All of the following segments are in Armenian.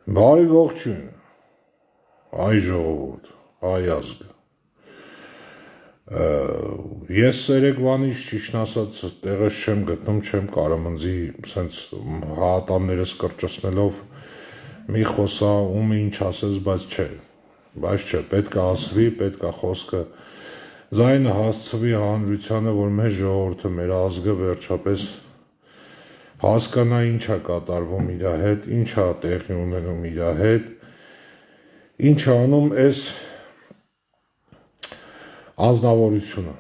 Բարի ողջույն, այ ժողովուրդ, այ ազգ։ Ես երեկվանից ճիշտ ասած տեղս չեմ գտնում, չեմ կարամնձի սենց հատաններս կրճացնելով մի խոսա ում ինչ ասես, բայց չէ, պետք է ասվի, պետք է խոսքը ձայնը հասցվի հանրությանը, որ մեր ժողովուրդը, մեր ազգը վերջապես հասկանա ինչ է կատարվում իր հետ, ինչ է տեղի ունենում իր հետ, ինչ է անում այս անձնավորությունը։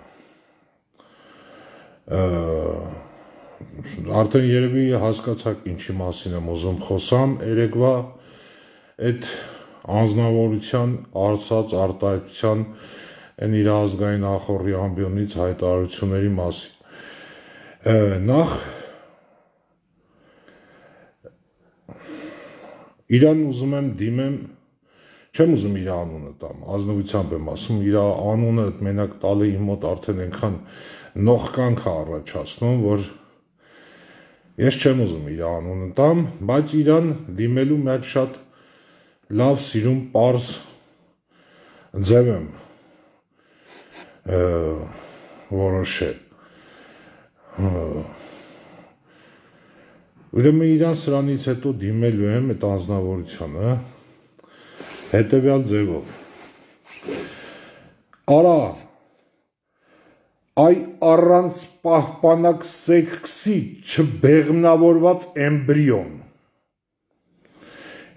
Արդեն երևի հասկացաք ինչի մասին եմ ուզում խոսամ, երեկվա այդ անձնավորության արծած արտահայտության այն իր ազգային ախորժի ամբիոնից հայտարարությունների մասին։ Նախ իրան ուզում եմ դիմեմ, չեմ ուզում իր անունը տամ, ազնվությամբ եմ ասում, իր անունը մենակ տալը իմ մոտ արդեն այնքան նողկանք է առաջացնում, որ ես չեմ ուզում իր անունը տամ, բայց իրան դիմելու մի հատ շատ լավ սիրում պարզ ձև եմ որոշել։ Ուրեմն իրան սրանից հետո դիմելու եմ այդ անձնավորությանը հետևյալ ձևով։ Արա, այ առանց պահպանակ սեքսի չբեղմնավորված էմբրիոն։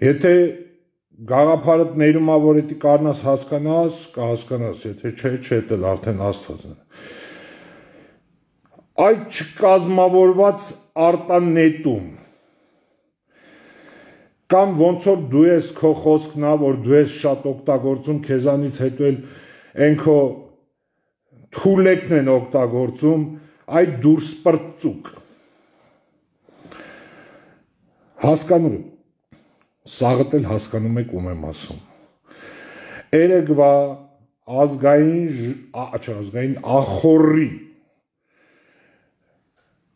Եթե գաղափարդ ներում ա, որ էդի կարնաս հասկանաս, կհասկանաս, եթե չէ, էլ արդեն Աստված է։ Այդ չկազմավորված արտանետում կամ ոնց որ դու ես քո խոսքն ա, որ դու ես շատ օգտագործում, քեզանից հետո էլ են քո թուլեկն են օգտագործում, այդ դուրս պրծուկ։ Հասկանում եք, սաղդ էլ հասկանում եք ում եմ ասում։ Երեկվա ազգային ախորժի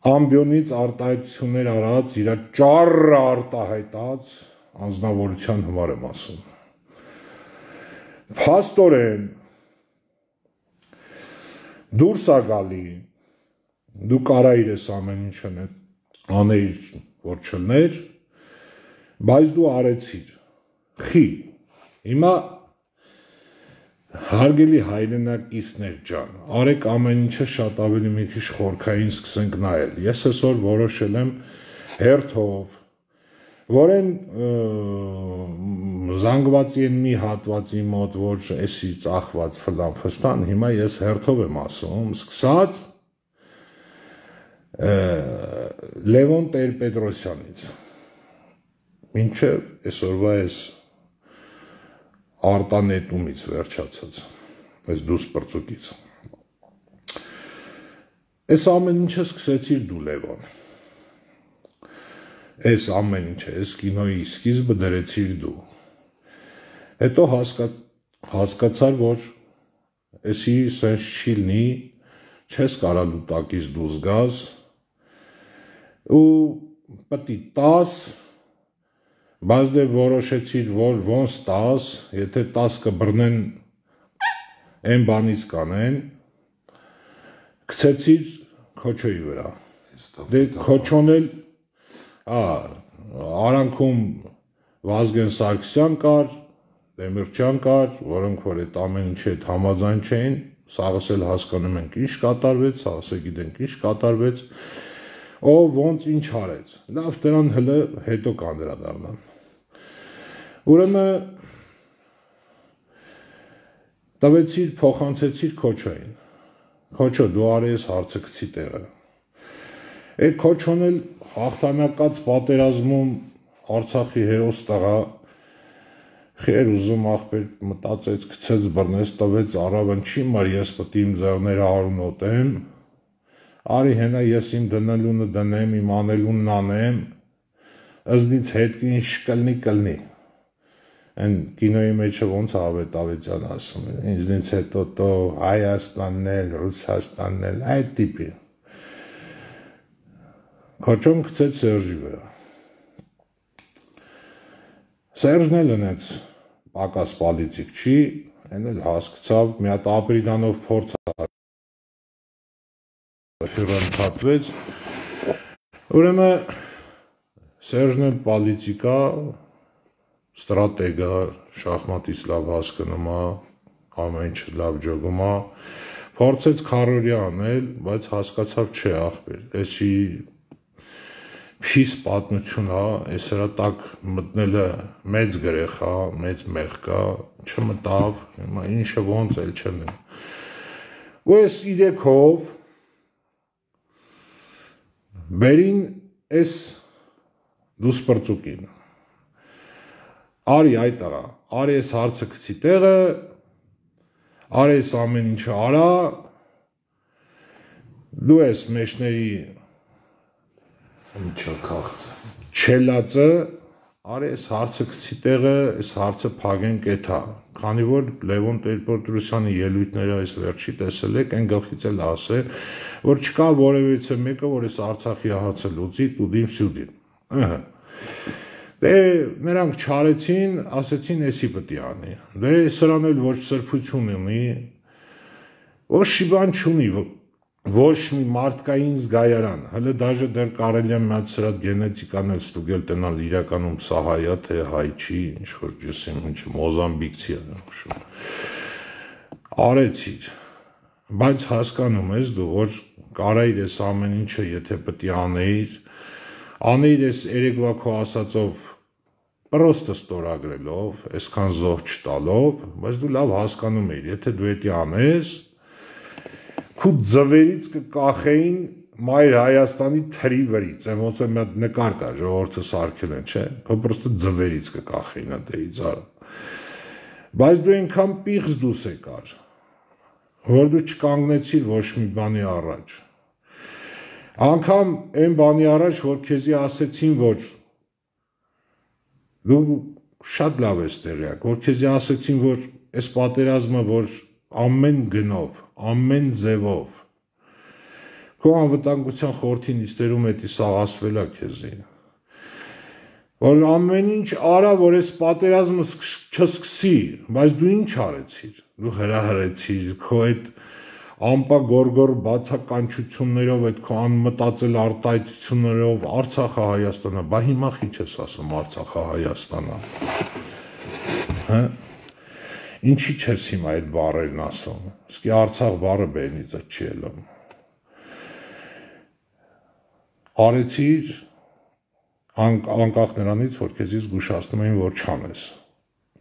ամբիոնից արտահայտություններ արած, իր ճառը արտահայտած անձնավորության համար եմ ասում։ Փաստորեն դուրս ա գալի, դու կարայիր ես ամեն ինչ անեիր, որ չլներ, բայց դու արեցիր, խի, հիմա հարգելի հայրենակիցներ ջան, արեք ամեն ինչը շատ ավելի մի քիչ խորքային սկսենք նայել, ես այսօր որոշել եմ հերթով, որ են զանգվածի են մի հատվածի մոտ, որ էսի ծախված ֆլան ֆստան, հիմա ես հերթով եմ ասում, սկսած Լևոն Տեր-Պետրոսյանից, մինչև այսօրվա այս արտանետումից վերջացած, այս դուս պրծուկից։ Այս ամեն ինչը սկսեցիր դու Լևոն, այս ամեն ինչը, այս կինոյի սկիզբը դրեցիր դու, հետո հասկացար, որ էսի սենց չի լինի, չես կարա լուտակից դուրս գաս, ու պտի տաս, բայց դե որոշեցիր, որ ոնց 10, եթե 10 կբռնեն, այն բանից կանեն, գցեցիր քոչոյի վրա, դե քոչոն էլ, արանքում Վազգեն Սարգսյան կար, Դեմիրճյան կար, որոնք որ այդ ամեն ինչի հետ համաձայն չէին, սաղս էլ հասկանում ենք ինչ կատարվեց, սաղս է գիտենք ինչ կատարվեց, ով ոնց ինչ արեց, լավ դրան հլը հետո կանդրադառնամ։ Ուրեմն տվեցիր, փոխանցեցիր քոչոյին, քոչո դու արի ես հարցը գցի տեղը, այդ քոչոն էլ հաղթանակած պատերազմում Արցախի հերոս տղա, խեր ուզում աղբեր մտածեց, գցեց բռնեց, տվեց առավն չի մար ես պտի իմ ձեռները արունոտեմ, արի հենա ես իմ դնելունը դնեմ, իմ անելունն անեմ, ըզնից հետ ինչ կլնի, այն կինոյի մեջը ոնց Ավետ Ավետյան ասում է, ինձնից հետո տո Հայաստանն էլ, Ռուսաստանն էլ, այդ տիպի, քոչոն գցեց Սերժի վրա, Սերժն էլ ընեց պակաս պալիցիկ չի, այն էլ հասկացավ, մի հատ ապրիդանով փորձ հյուրանքատվեց, ուրեմն Սերժն էլ պալիցիկա, ստրատեգա, շախմատից լավ հասկնում է, ամեն ինչ լավ ջոգում է, փորձեց քարորյա անել, բայց հասկացավ չէ ախպեր, էսի փիս պատմություն է, այս հրա տակ մտնելը մեծ գրեխա, մեծ մեղքա, չմտավ, ինչը ոնց էլ չնեմ։ Ու այս իրեքով բերին այս դուսպրծուկին, արի այդ աղա, արի այս հարցը կցի տեղը, արի այս ամեն ինչը արա, դու ես մեջների չելածը, արի այս հարցը կցի տեղը, այս հարցը փագեն կեթա, քանի որ Լևոն Տեր-Պետրոսյանի ելույթները այս վերջի տեսել եք, այն գլխից էլ ասե, որ չկա որևիցե մեկը, որ այս Արցախի հարցը լուծի տուդին սյուդին։ Դե նրանք չարեցին, ասեցին էսի պտի անի, դե սրան էլ ոչ սրբություն ունի, ոչ շիբան չունի, ոչ մի մարդկային զգայարան, հələ դաժե դեռ կարելի է միած սրա գենետիկան էլ ստուգել տնալ իրականում սա հայ է, թե հայ չի, ինչ որ ջեսեմ, ինչ մոզամբիկցի է նշում։ Արեցիր, բայց հասկանում ես դու, որ կարայիր ես ամեն ինչը, եթե պտի անեիր ես երեկվա քո ասածով պրոստը ստորագրելով, այսքան զոհ չտալով, բայց դու լավ հասկանում էիր, եթե դու էդի անես, քու ձվերից կկախեին Մայր Հայաստանի թրի վրից, ոնց է մի հատ նկար կա, ժողովուրդը սարքել են, չէ, քո պրոստը ձվերից կկախեին ադեից արա։ Բայց դու այնքան պիղծ դուս եկար, որ դու չկանգնեցիր ոչ մի բանի առաջ։ Անգամ այն բանի առաջ, որ քեզի ասեցին, որ դու շատ լավ ես տեղյակ, որ քեզի ասեցին, որ այս պատերազմը, որ ամեն գնով, ամեն ձևով, քո անվտանգության խորհրդի նիստերում էդի սաղ ասվել է քեզի, որ ամեն ինչ արա, որ այս պատերազմը չսկսի, բայց դու ինչ արեցիր, դու հրահրեցիր, քո այդ ամպագորգոր բացականչություններով, այդ քո անմտածել արտահայտություններով Արցախը Հայաստանա, բա հիմա խի չես ասում Արցախը Հայաստանա, հա, ինչի չես հիմա այդ բառերն ասում, իսկի Արցախ բառը բերնից չի ելում, արեցիր անկախ նրանից, որ քեզի զգուշացնում էին, որ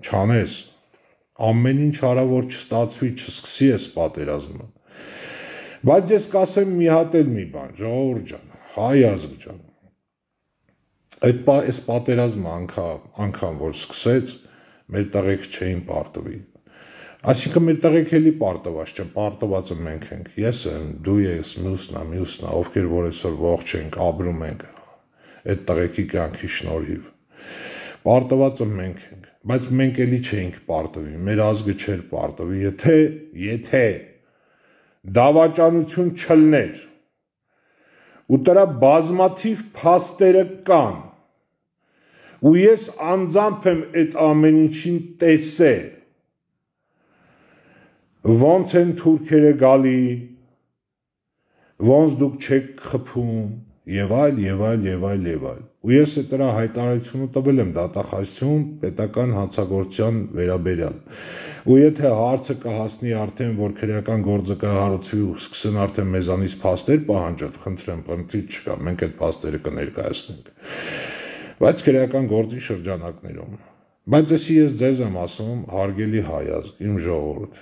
չանես, ամեն ինչ արա, որ չստացվի, չսկսի այս պատերազմը, բայց ես կասեմ մի հատ էլ մի բան, ժողովուրդ ջան, հայ ազգ ջան, այս պատերազմը անգամ որ սկսեց, մեր տղեկ չէին պարտվի, այսինքն մեր տղեկ էլի պարտված չեն, պարտվածը մենք ենք, ես եմ, դու ես, մյուսնա, ովքեր որ այսօր ողջ ենք, ապրում ենք, այդ տղեկի կյանքի շնորհիվ, պարտվածը մենք ենք, բայց մենք էլի չէինք պարտվի, մեր ազգը չէր պարտվի, եթե դավաճանություն չլներ, ու դրա բազմաթիվ փաստերը կան, ու ես անձամբ եմ այդ ամեն ինչին տեսել, ոնց են թուրքերը գալի, ոնց դուք չեք խփում, եւ այլ, ու ես այդ դրա հայտարարությունը տվել եմ դատախազություն պետական հանցագործության վերաբերյալ, ու եթե հարցը կհասնի արդեն, որ քրեական գործը կհարուցվի ու սկսեն արդեն մեզանից փաստեր պահանջել, խնդրեմ, պնդիչ չկա, մենք այդ փաստերը կներկայացնենք, բայց քրեական գործի շրջանակներում, բայց էսի ես ձեզ եմ ասում, հարգելի հայ ազգ, իմ ժողովուրդ,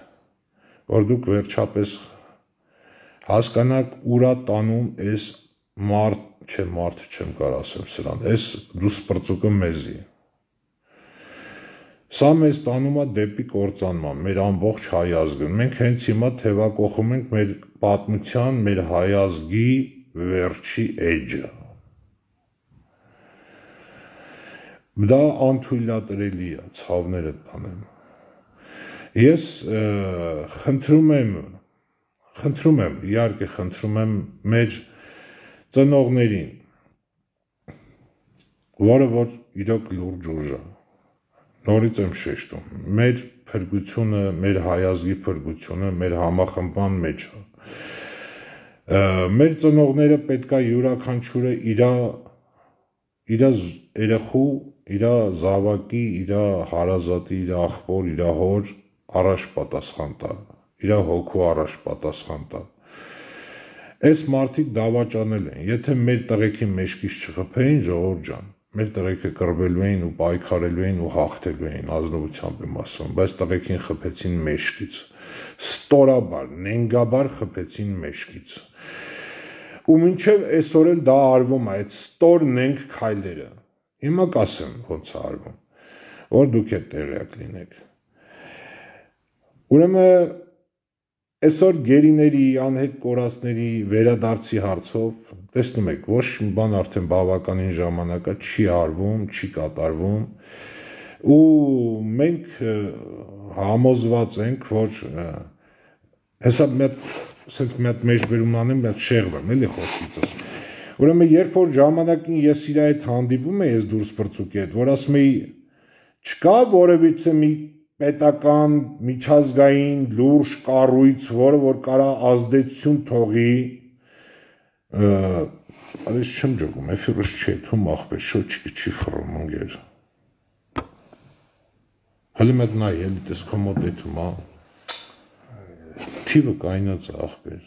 որ դուք վերջապես հասկանաք ուրա տանում այս մարդ չեմ կարող ասեմ սրան, այս դուսպրծուկը մեզի, սա մեզ տանում է դեպի կործանման, մեր ամբողջ հայ ազգը, մենք հենց հիմա թևակողում ենք մեր պատմության, մեր հայ ազգի վերջի էջը, դա անթույլատրելի է, ցավները տանեմ, ես խնդրում եմ, իհարկե խնդրում եմ մեր ծնողներին, որը որ իրոք լուրջ ուժ է, նորից եմ շեշտում, մեր փրկությունը, մեր հայազգի փրկությունը մեր համախմբման մեջ է։ Մեր ծնողները պետքա յուրաքանչյուրը իր երեխու, իր զավակի, իր հարազատի, իր աղբոր, իր հոր առաջ պատասխան տա, իր հոգու առաջ պատասխան տա։ Այս մարդիկ դավաճանել են, եթե մեր տղեկի մեջքից չխփեին, ժողովուրդ ջան, մեր տղեկը կռվելու էին ու պայքարելու էին ու հաղթելու էին, ազնվությամբ եմ ասում, բայց տղեկին խփեցին մեջքից, ստորաբար, նենգաբար խփեցին մեջքից։ Ու մինչև այսօր էլ դա արվում է, այդ ստոր նենք քայլերը։ Հիմա կասեմ ոնց է արվում, որ դուք էլ տեղյակ լինեք։ Ուրեմն այսօր գերիների, անհետ կորածների վերադարձի հարցով տեսնում եք, ոչ մի բան արդեն բավականին ժամանակ է չի արվում, չի կատարվում, ու մենք համոզված ենք, որ հեսա մի հատ մեջբերում անեմ, մի հատ շեղվեմ, էլի խոսքիցս։ Ուրեմն երբ որ ժամանակին ես իր հետ հանդիպում էի ես դուրս բրծուկի հետ, որ ասում էի չկա որևիցե մի պետական միջազգային լուրջ կառույց, որը որ կարա ազդեցություն թողի, այս չեմ ջոկում, էֆիրս չի, թում ախպեր, չի խռում ընկեր։ Հələ մեկ նայ, էլի տես քո մոտ էթում, հա։ Թիվը կայնած է ախպեր։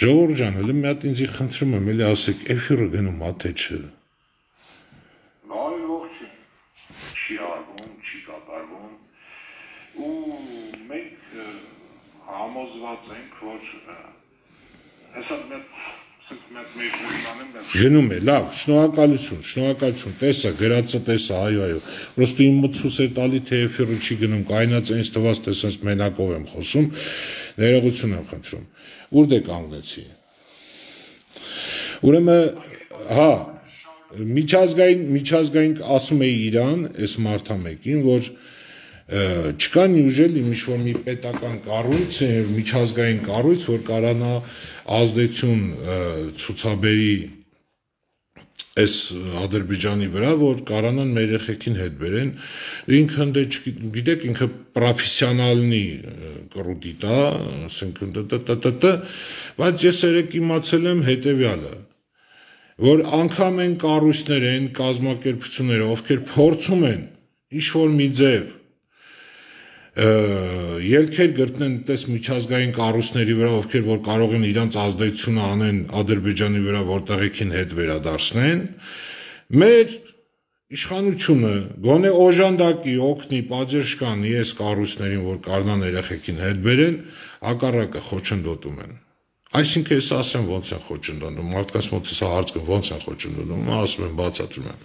Ժողովուրդ ջան, հələ մի հատ ինձի խնդրում եմ, էլի ասեք, էֆիրը գնում ա թե չէ։ Բարի ողջույն, չի արվում, չի կատարվում, ու մենք համոզված ենք, որ հեսա գնում է, լավ, շնորհակալություն, տեսա, գրածը տեսա, այո, պրոստը իմ մտցուս է տալի, թե էֆիրը չի գնում, կայնած այնց թվաց, տեսած մենակով եմ խոսում, ներողություն եմ խնդրում, ուր դե կանգնեցի։ Ուրեմն, հա, միջազգային ասում էի իրան, այս մարդամեկին, որ չկա նյուժել ինչ-որ մի պետական կառույց, միջազգային կառույց, որ կարանա ազդեցություն ցուցաբերի այս Ադրբեջանի վրա, որ կարանան մեր երեխեքին հետ բերեն, ինքը դե գիտեք, ինքը պրոֆեսիոնալնի կռուտի տա, ասենք բայց ես երեք իմացել եմ հետևյալը, որ անգամ են կառույցներ են, կազմակերպությունները, ովքեր փորձում են ինչ-որ մի ձև ելքեր գտնեն տես միջազգային կառույցների վրա, ովքեր որ կարող են իրանց ազդեցությունը անեն Ադրբեջանի վրա, որ տեղեքին հետ վերադարձնեն, մեր իշխանությունը գոնե օժանդակի, օգնի, պատժկանի այս կառույցներին, որ կարողան երեխեքին հետ բերեն, հակառակը խոչընդոտում են։ Այսինքն ես ասեմ ոնց են խոչընդոտում, մարդկանց մոտ հա հարց կա ոնց են խոչընդոտում, ասում եմ բացատրում եմ։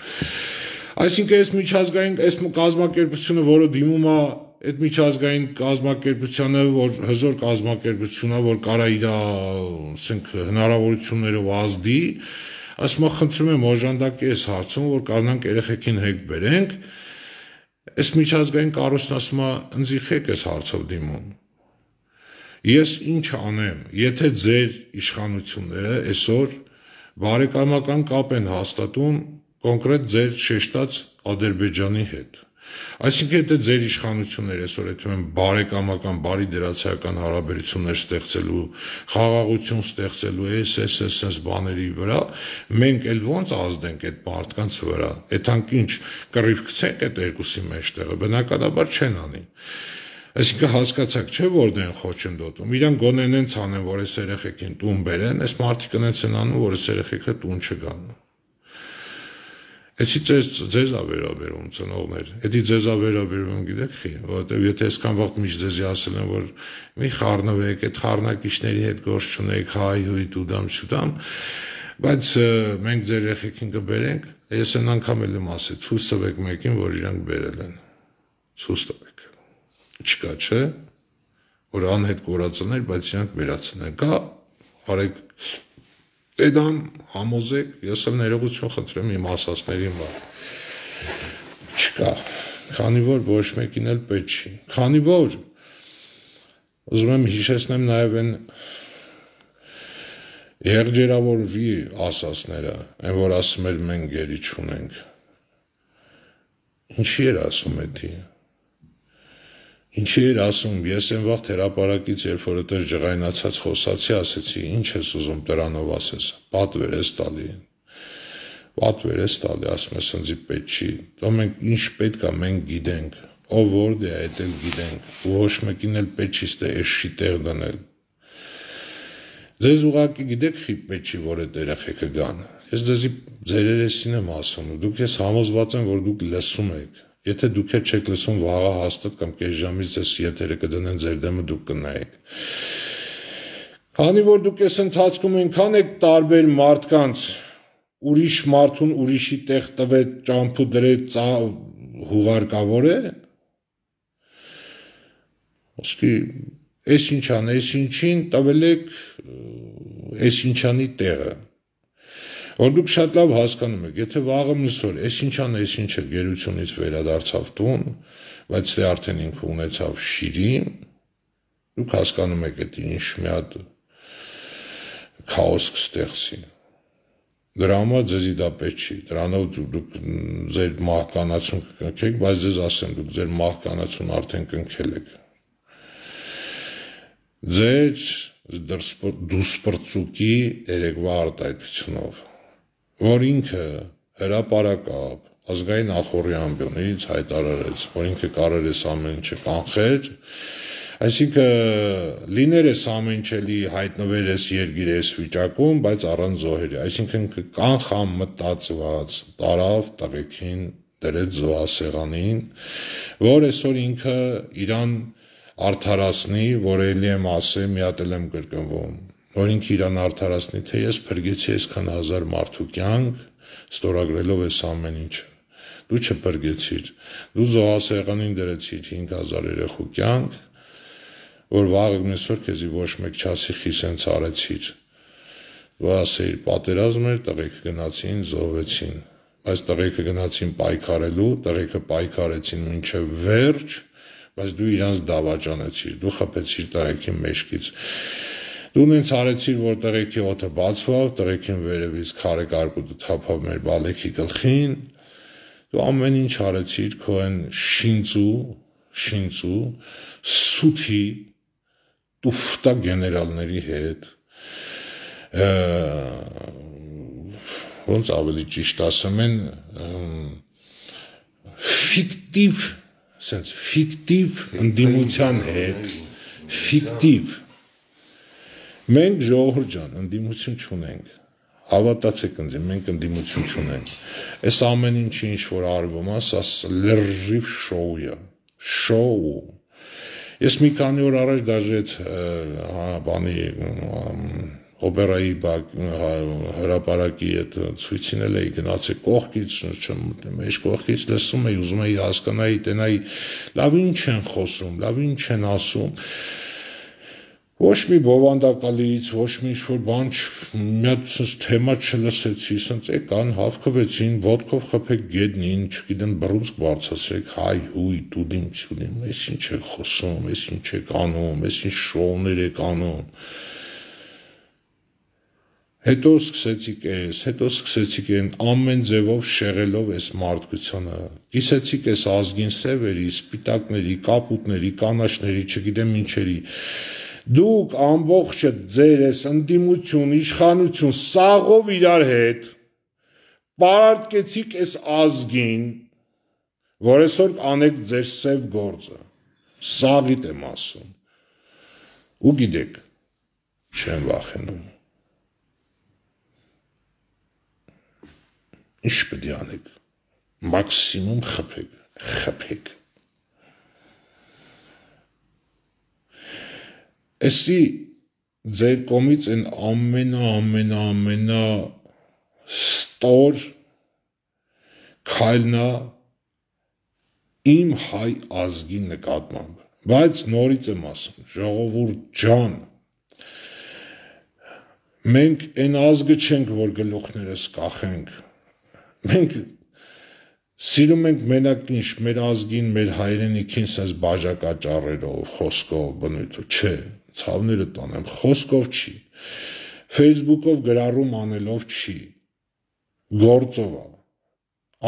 Այսինքն այս միջազգային այս կազմակերպությունը, որը դիմում է այդ միջազգային կազմակերպությանը, որ հզոր կազմակերպություն է, որ կարա իր, ասենք, հնարավորություններով ազդի, ասում եմ, խնդրում եմ օժանդակի այս հարցում, որ կարողանանք երեխեքին հետ բերենք, այս միջազգային կառույցն ասում է, ընձիխեք այս հարցով դիմում։ Ես ինչ անեմ, եթե ձեր իշխանությունները այսօր բարեկամական կապ են հաստատում կոնկրետ ձեր շեշտած Ադրբեջանի հետ։ Այսինքն եթե ձեր իշխանությունները այսօր եթե են բարեկամական, բարի դրացիական հարաբերություններ ստեղծելու, խաղաղություն ստեղծելու այս բաների վրա, մենք էլ ոնց ազդենք այդ մարդկանց վրա, այդանք ինչ կռիվ գցենք այդ երկուսի մեջտեղը, բնականաբար չեն անի։ Այսինքն հասկացաք, չէ՞ որ դեն խոչընդոտում։ Իրանք գոնեն են ցանեն, որ այս երեխեքին տուն բերեն, այս մարդիկ ընենց են անում, որ այս երեխեքը տուն չգան։ Էսի ձեզ ա վերաբերում ծնողներ, էդի ձեզ ա վերաբերում գիտեք խի, որովհետև եթե այսքան վաղ միշտ ձեզի ասել են, որ մի խառնվեք, այդ խառնակիչների հետ գործ չունեք, հայ հույտ ու դամ շուտամ, բայց մենք ձեր երեխեքին կբերենք, ես այն անգամ էլ եմ ասել, ցույց տվեք մեկին, որ իրանք բերել են, ցույց տվեք, չկա չէ, որ անհետ կորածներ, բայց իրանք վերացնեն, կա, արեք Էդան համոզեք, ես էլ ներողություն խնդրեմ իմ ասածներին վար։ Չկա, քանի որ ոչ մեկին էլ պետք չի։ Քանի որ ուզում եմ հիշեցնեմ նաև այն Եղջերավորի ասածները, այն որ ասում էր մենք գերի չունենք, ինչի էր ասում էդի, ինչի էր ասում, ես են վաղ հրապարակից, երբ որ այդպես ջղայնացած խոսացի, ասեցի, ինչ ես ուզում դրանով ասես, պատվեր ես տալի, ասում ես ընձի պետք չի, դո մենք ինչ պետք է մենք գիտենք, ով որդ է այդ էլ գիտենք, ու ոչ մեկին էլ պետք չի ստե էշի տեղ դնել, ձեզ ուղղակի գիտեք խիպ պետք չի, որ այդ երեխեքը գան, ես ձեզի ձեր երեսին եմ ասում, դուք ես համոզված եմ, որ դուք լսում եք, եթե դուք չեք լսում վաղը հաստատ կամ կես ժամից ձեզ եթերը կդնեն ձեր դեմը դուք կնայեք, քանի որ դուք ես ընթացքում այնքան եք տարբեր մարդկանց, ուրիշ մարդուն ուրիշի տեղ տվեց ճամփու դրեց հուղարկավոր է, ոսկի ես ինչան, ես ինչին տվել եք ես ինչանի տեղը, որ դուք շատ լավ հասկանում եք, եթե վաղը միսոր, ես ինչան, ես ինչը գերությունից վերադարձավ տուն, բայց դե արդեն ինքը ունեցավ շիրին, դուք հասկանում եք էդ ինչ մի հատ քաոս կստեղծի, դրա համար ձեզի դա պետք չի, դրանով դուք ձեր մահկանացուն կկնքեք, բայց ձեզ ասեմ, դուք ձեր մահկանացուն արդեն կնքել եք, ձեր դուսպրծուկի երեկվա արտահայտությունով, որ ինքը հրապարակավ ազգային նախօրյամբյոնից հայտարարեց, որ ինքը կարող է ամեն ինչը կանխել, այսինքն լիներ ես ամեն ինչելի հայտնվեր ես երգիր ես վիճակում, բայց առանց զոհերի, այսինքն կանխամ մտածված տարավ տղեկին դրեց զոհասեղանին, որ այսօր ինքը իրան արդարացնի, որ էլի եմ ասեմ, մի հատ էլ եմ կրկնվում, որ ինքը իրան արդարացնի, թե ես փրկեցի այսքան հազար մարդու կյանք, ստորագրելով այս ամեն ինչը, դու չփրկեցիր, դու զոհասեղանին դրեցիր 5000 երեխու կյանք, որ վաղը մեսօր քեզի ոչ մեկ չասի խիսենց արեցիր, դու ասեիր պատերազմ էր, տղեկը գնացին, զոհվեցին, բայց տղեկը գնացին պայքարելու, տղեկը պայքարեցին մինչև վերջ, բայց դու իրանց դավաճանեցիր, դու խփեցիր տղեկի մեջքից, դու նենց արեցիր, որ տղեկի օդը բացվավ, տղեկին վերևից քարե կարկուտը թափավ մեր բալեքի գլխին, դու ամեն ինչ արեցիր քո այն շինծու, սութի, տուֆտա գեներալների հետ, ոնց ավելի ճիշտ ասեմ են, ֆիկտիվ ընդդիմության հետ, ֆիկտիվ, մենք ժողովուրդ ջան, ընդդիմություն չունենք, հավատացեք ինձ, մենք ընդդիմություն չունենք, այս ամեն ինչի ինչ որ արվում է, սա լրիվ շոու, ես մի քանի օր առաջ դաժեց բանի օպերայի հրապարակի այդ ցույցին էլ էի գնացել կողքից, մեջ կողքից լսում էի, ուզում էի հասկանայի, տենայի, լավ ինչ են խոսում, լավ ինչ են ասում, ոչ մի բովանդակալից, ոչ մի ինչ-որ բան, մի հատ թեմա չլսեցի, սենց եկան, հավքվեցին, ոտքով խփեք գետնին, չգիտեմ, բռունցք բարձրացրեք, հայ, հույ, տուդիմ, ես ինչ եք խոսում, ես ինչ եք անում, ես ինչ շոուներ եք անում, հետո սկսեցիք են ամեն ձևով շեղելով այս մարդկությանը, կիսեցիք այս ազգին սևերի, սպիտակների, կապուտների, կանաչների, չգիտեմ ինչերի, դուք ամբողջը ձեր ես ընդդիմություն, իշխանություն, սաղով իրար հետ, պարարկեցիք այս ազգին, որ այսօր անեք ձեր սև գործը, սաղիտ եմ ասում, ու գիտեք, չեմ վախենում, ինչ պետք է անեք, մաքսիմում խփեք, Էսի ձեր կողմից են ամենա ստոր քայլնա իմ հայ ազգի նկատմամբ, բայց նորից եմ ասում, ժողովուրդ ջան, մենք այն ազգը չենք, որ գլուխներս կախենք, մենք սիրում ենք մենակ ինչ, մեր ազգին, մեր հայրենիքին սենց բաժակաճառերով, խոսքով, բնույթով, չէ, ցավները տանեմ, խոսքով չի, Facebook-ով գրառում անելով չի, գործով է,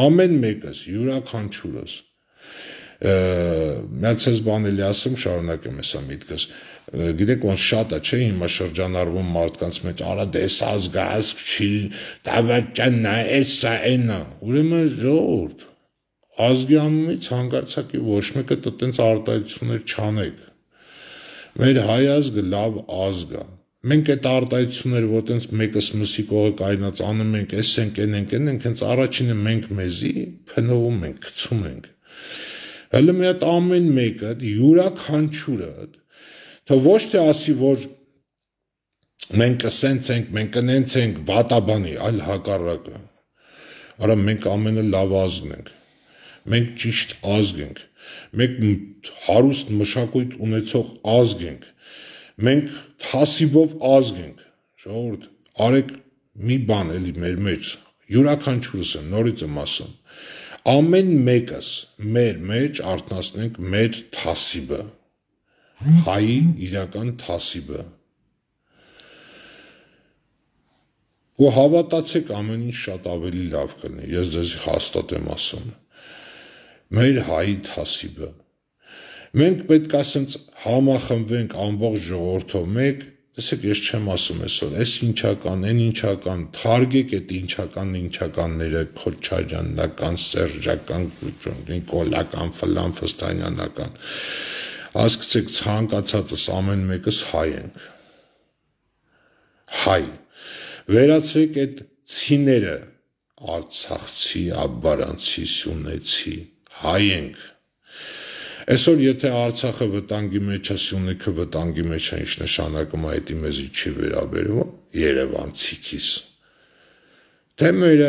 ամեն մեկս, յուրաքանչյուրս, միած ես բան էլի ասեմ, շարունակեմ հեսա միտքս, գիտեք ոնց շատ է, չէ, հիմա շրջանառվում մարդկանց մեջ, արա դես ազգազգ չի, դավաճանա, էսա, էնա, ուրեմն ժողովուրդ, ազգի անունից հանգարցակի ոչ մեկը տենց արտահայտություններ չանեք, մեր հայ ազգը լավ ազգ է, մենք այդ արտահայտությունները, որ տենց մեկս մսի կողը կայնած անում ենք, էս ենք, հենց առաջինը մենք մեզի փնովում ենք, գցում ենք, հələ մի հատ ամեն մեկը, յուրաքանչյուրը, թե ոչ թե ասի, որ մենք կսենց ենք, մենք կնենց ենք, վատաբանի, այլ հակառակը, արա մենք ամենը լավ ազգն ենք, մենք ճիշտ ազգ ենք, մենք հարուստ մշակույթ ունեցող ազգ ենք, մենք թասիբով ազգ ենք, ժողովուրդ, արեք մի բան էլի մեր մեջ, յուրաքանչյուրս եմ, նորից եմ ասում, ամեն մեկս մեր մեջ արթնացնենք մեր թասիբը, հայի իրական թասիբը, ու հավատացեք ամեն ինչ շատ ավելի լավ կլինի, ես ձեզ հաստատ եմ ասում, մեր հայի թասիբը, մենք պետք է ասենց համախմբվենք ամբողջ ժողովրդով մեկ, տեսեք ես չեմ ասում այսօր, այս ինչական, այն ինչական, թարգեք այդ ինչականները, քոչարյանական, սերժական, նիկոլական, ֆլան, ֆստանյանական, հասկացեք ցանկացածս ամեն մեկս հայ ենք, հայ, վերացրեք այդ ցիները, արցախցի, աբարանցի, սյունեցի, հայ ենք, այսօր եթե Արցախը վտանգի մեջ է, Սյունիքը վտանգի մեջ է, ինչ նշանակում է, դա մեզի չի վերաբերվում, երևանցիքիս, թե մեր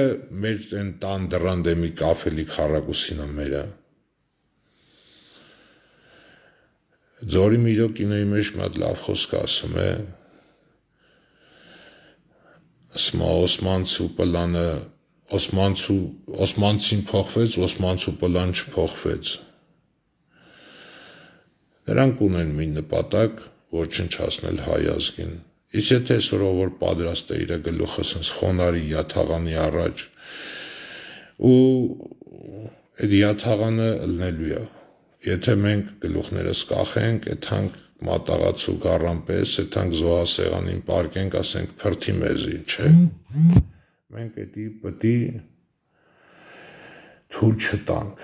այն տան դռան դեմի կաֆելի քառակուսին է մերը, Ձորի Միրո կինոյի մեջ մի հատ լավ խոսք ասում է, ասма Օսմանցու պլանը, Օսմանցին փոխվեց, Օսմանցու պլան չփոխվեց, նրանք ունեն մի նպատակ ոչնչացնել հայ ազգին, իսկ եթե այսօր որ պատրաստ է իր գլուխը սենց խոնարհի յաթաղանի առաջ ու այդ յաթաղանը ըլնելու է, եթե մենք գլուխներս կախենք, եթանք մատաղացու գառան պես, եթանք զոհասեղանին պարկենք, ասենք փրթի մեզի, չէ, մենք էդի պտի թույլ չտանք,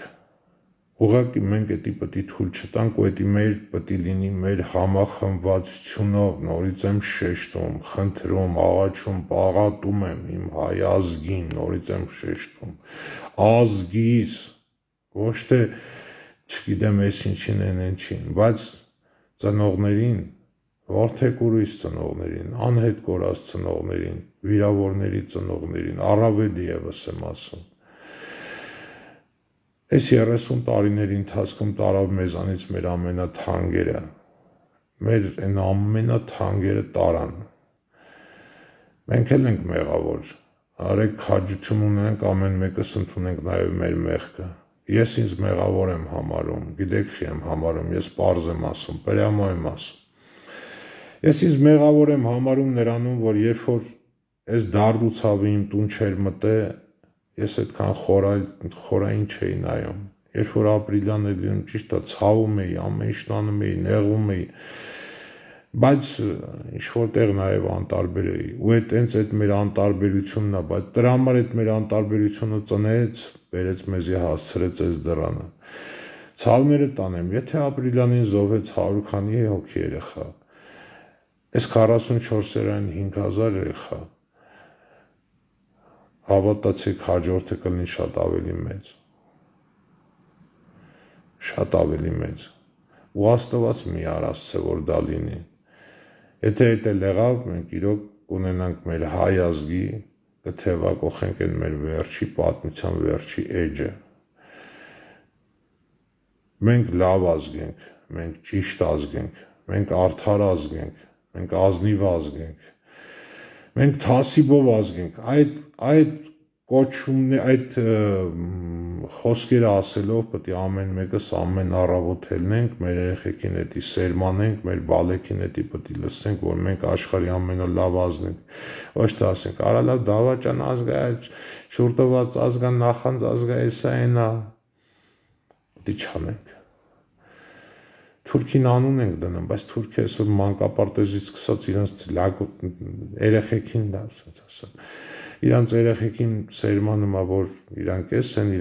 ուղղակի մենք էդի պտի թույլ չտանք ու էդի մեր պտի լինի մեր համախմբվածությունով, նորից եմ շեշտում, խնդրում, աղաչում, պաղատում եմ իմ հայ ազգին, նորից եմ շեշտում, ազգիս, ոչ թե չգիտեմ ես ինչին են ինչին, բայց ծնողներին, որդեկուրույս ծնողներին, անհետ կորած ծնողներին, վիրավորների ծնողներին, առավել ևս եմ ասում, այս 30 տարիների ընթացքում տարավ մեզանից մեր ամենաթանկերը, մեր այն ամենաթանկերը տարան, մենք էլ ենք մեղավոր, արեք քաջություն ունենք, ամեն մեկս ընդունենք նաև մեր մեղքը, ես ինձ մեղավոր եմ համարում, գիտեք չի եմ համարում, ես պարզ եմ ասում, պրյամո եմ ասում, ես ինձ մեղավոր եմ համարում նրանում, որ երբ որ այս դարդ ու ցավը իմ տուն չեր մտե, ես այդքան խորային չէի նայում, երբ որ ապրիլյան էր լինում, ճիշտ է, ցավում էի, ամեն ինչ անում էի, նեղվում էի, բայց ինչ-որտեղ նաև անտարբեր էի, ու հենց այդ մեր անտարբերությունն է, բայց դրա համար այդ մեր անտարբերությունը ծնեց, բերեց մեզի հասցրեց այս դռանը, ցավները տանեմ, եթե ապրիլյանին զոհվեց 100 քանի հոգի երեխա, այս 44-երային 5000 երեխա, հավատացեք հաջորդը կլինի շատ ավելի մեծ, ու Աստված մի արասցե, որ դա լինի, եթե այդ էլ եղավ, մենք իրոք կունենանք մեր հայ ազգի, կթևակողենք են մեր վերջի պատմության վերջի էջը, մենք լավ ազգ ենք, մենք ճիշտ ազգ ենք, մենք արդար ազգ ենք, մենք ազնիվ ազգ ենք, մենք թասիբով ազգ ենք, այդ կոչումն այդ խոսքերը ասելով պետք է ամեն մեկս ամեն առավոտ ելնենք, մեր երեխեքին էդի սերմանենք, մեր բալեքին էդի պետք է լսենք, որ մենք աշխարհի ամենալավ ազգն ենք, ոչ թե ասենք, արա լավ դավաճան ազգ է, շուրտված ազգ է, նախանձ ազգ է, էսա այնա, պետք է չանենք։ Թուրքին անուն ենք դնում, բայց Թուրքիա այսօր մանկապարտեզից սկսած իրենց երեխեքին դա ասած իրանց երեխեքին սերմանում է, որ իրանք էս են,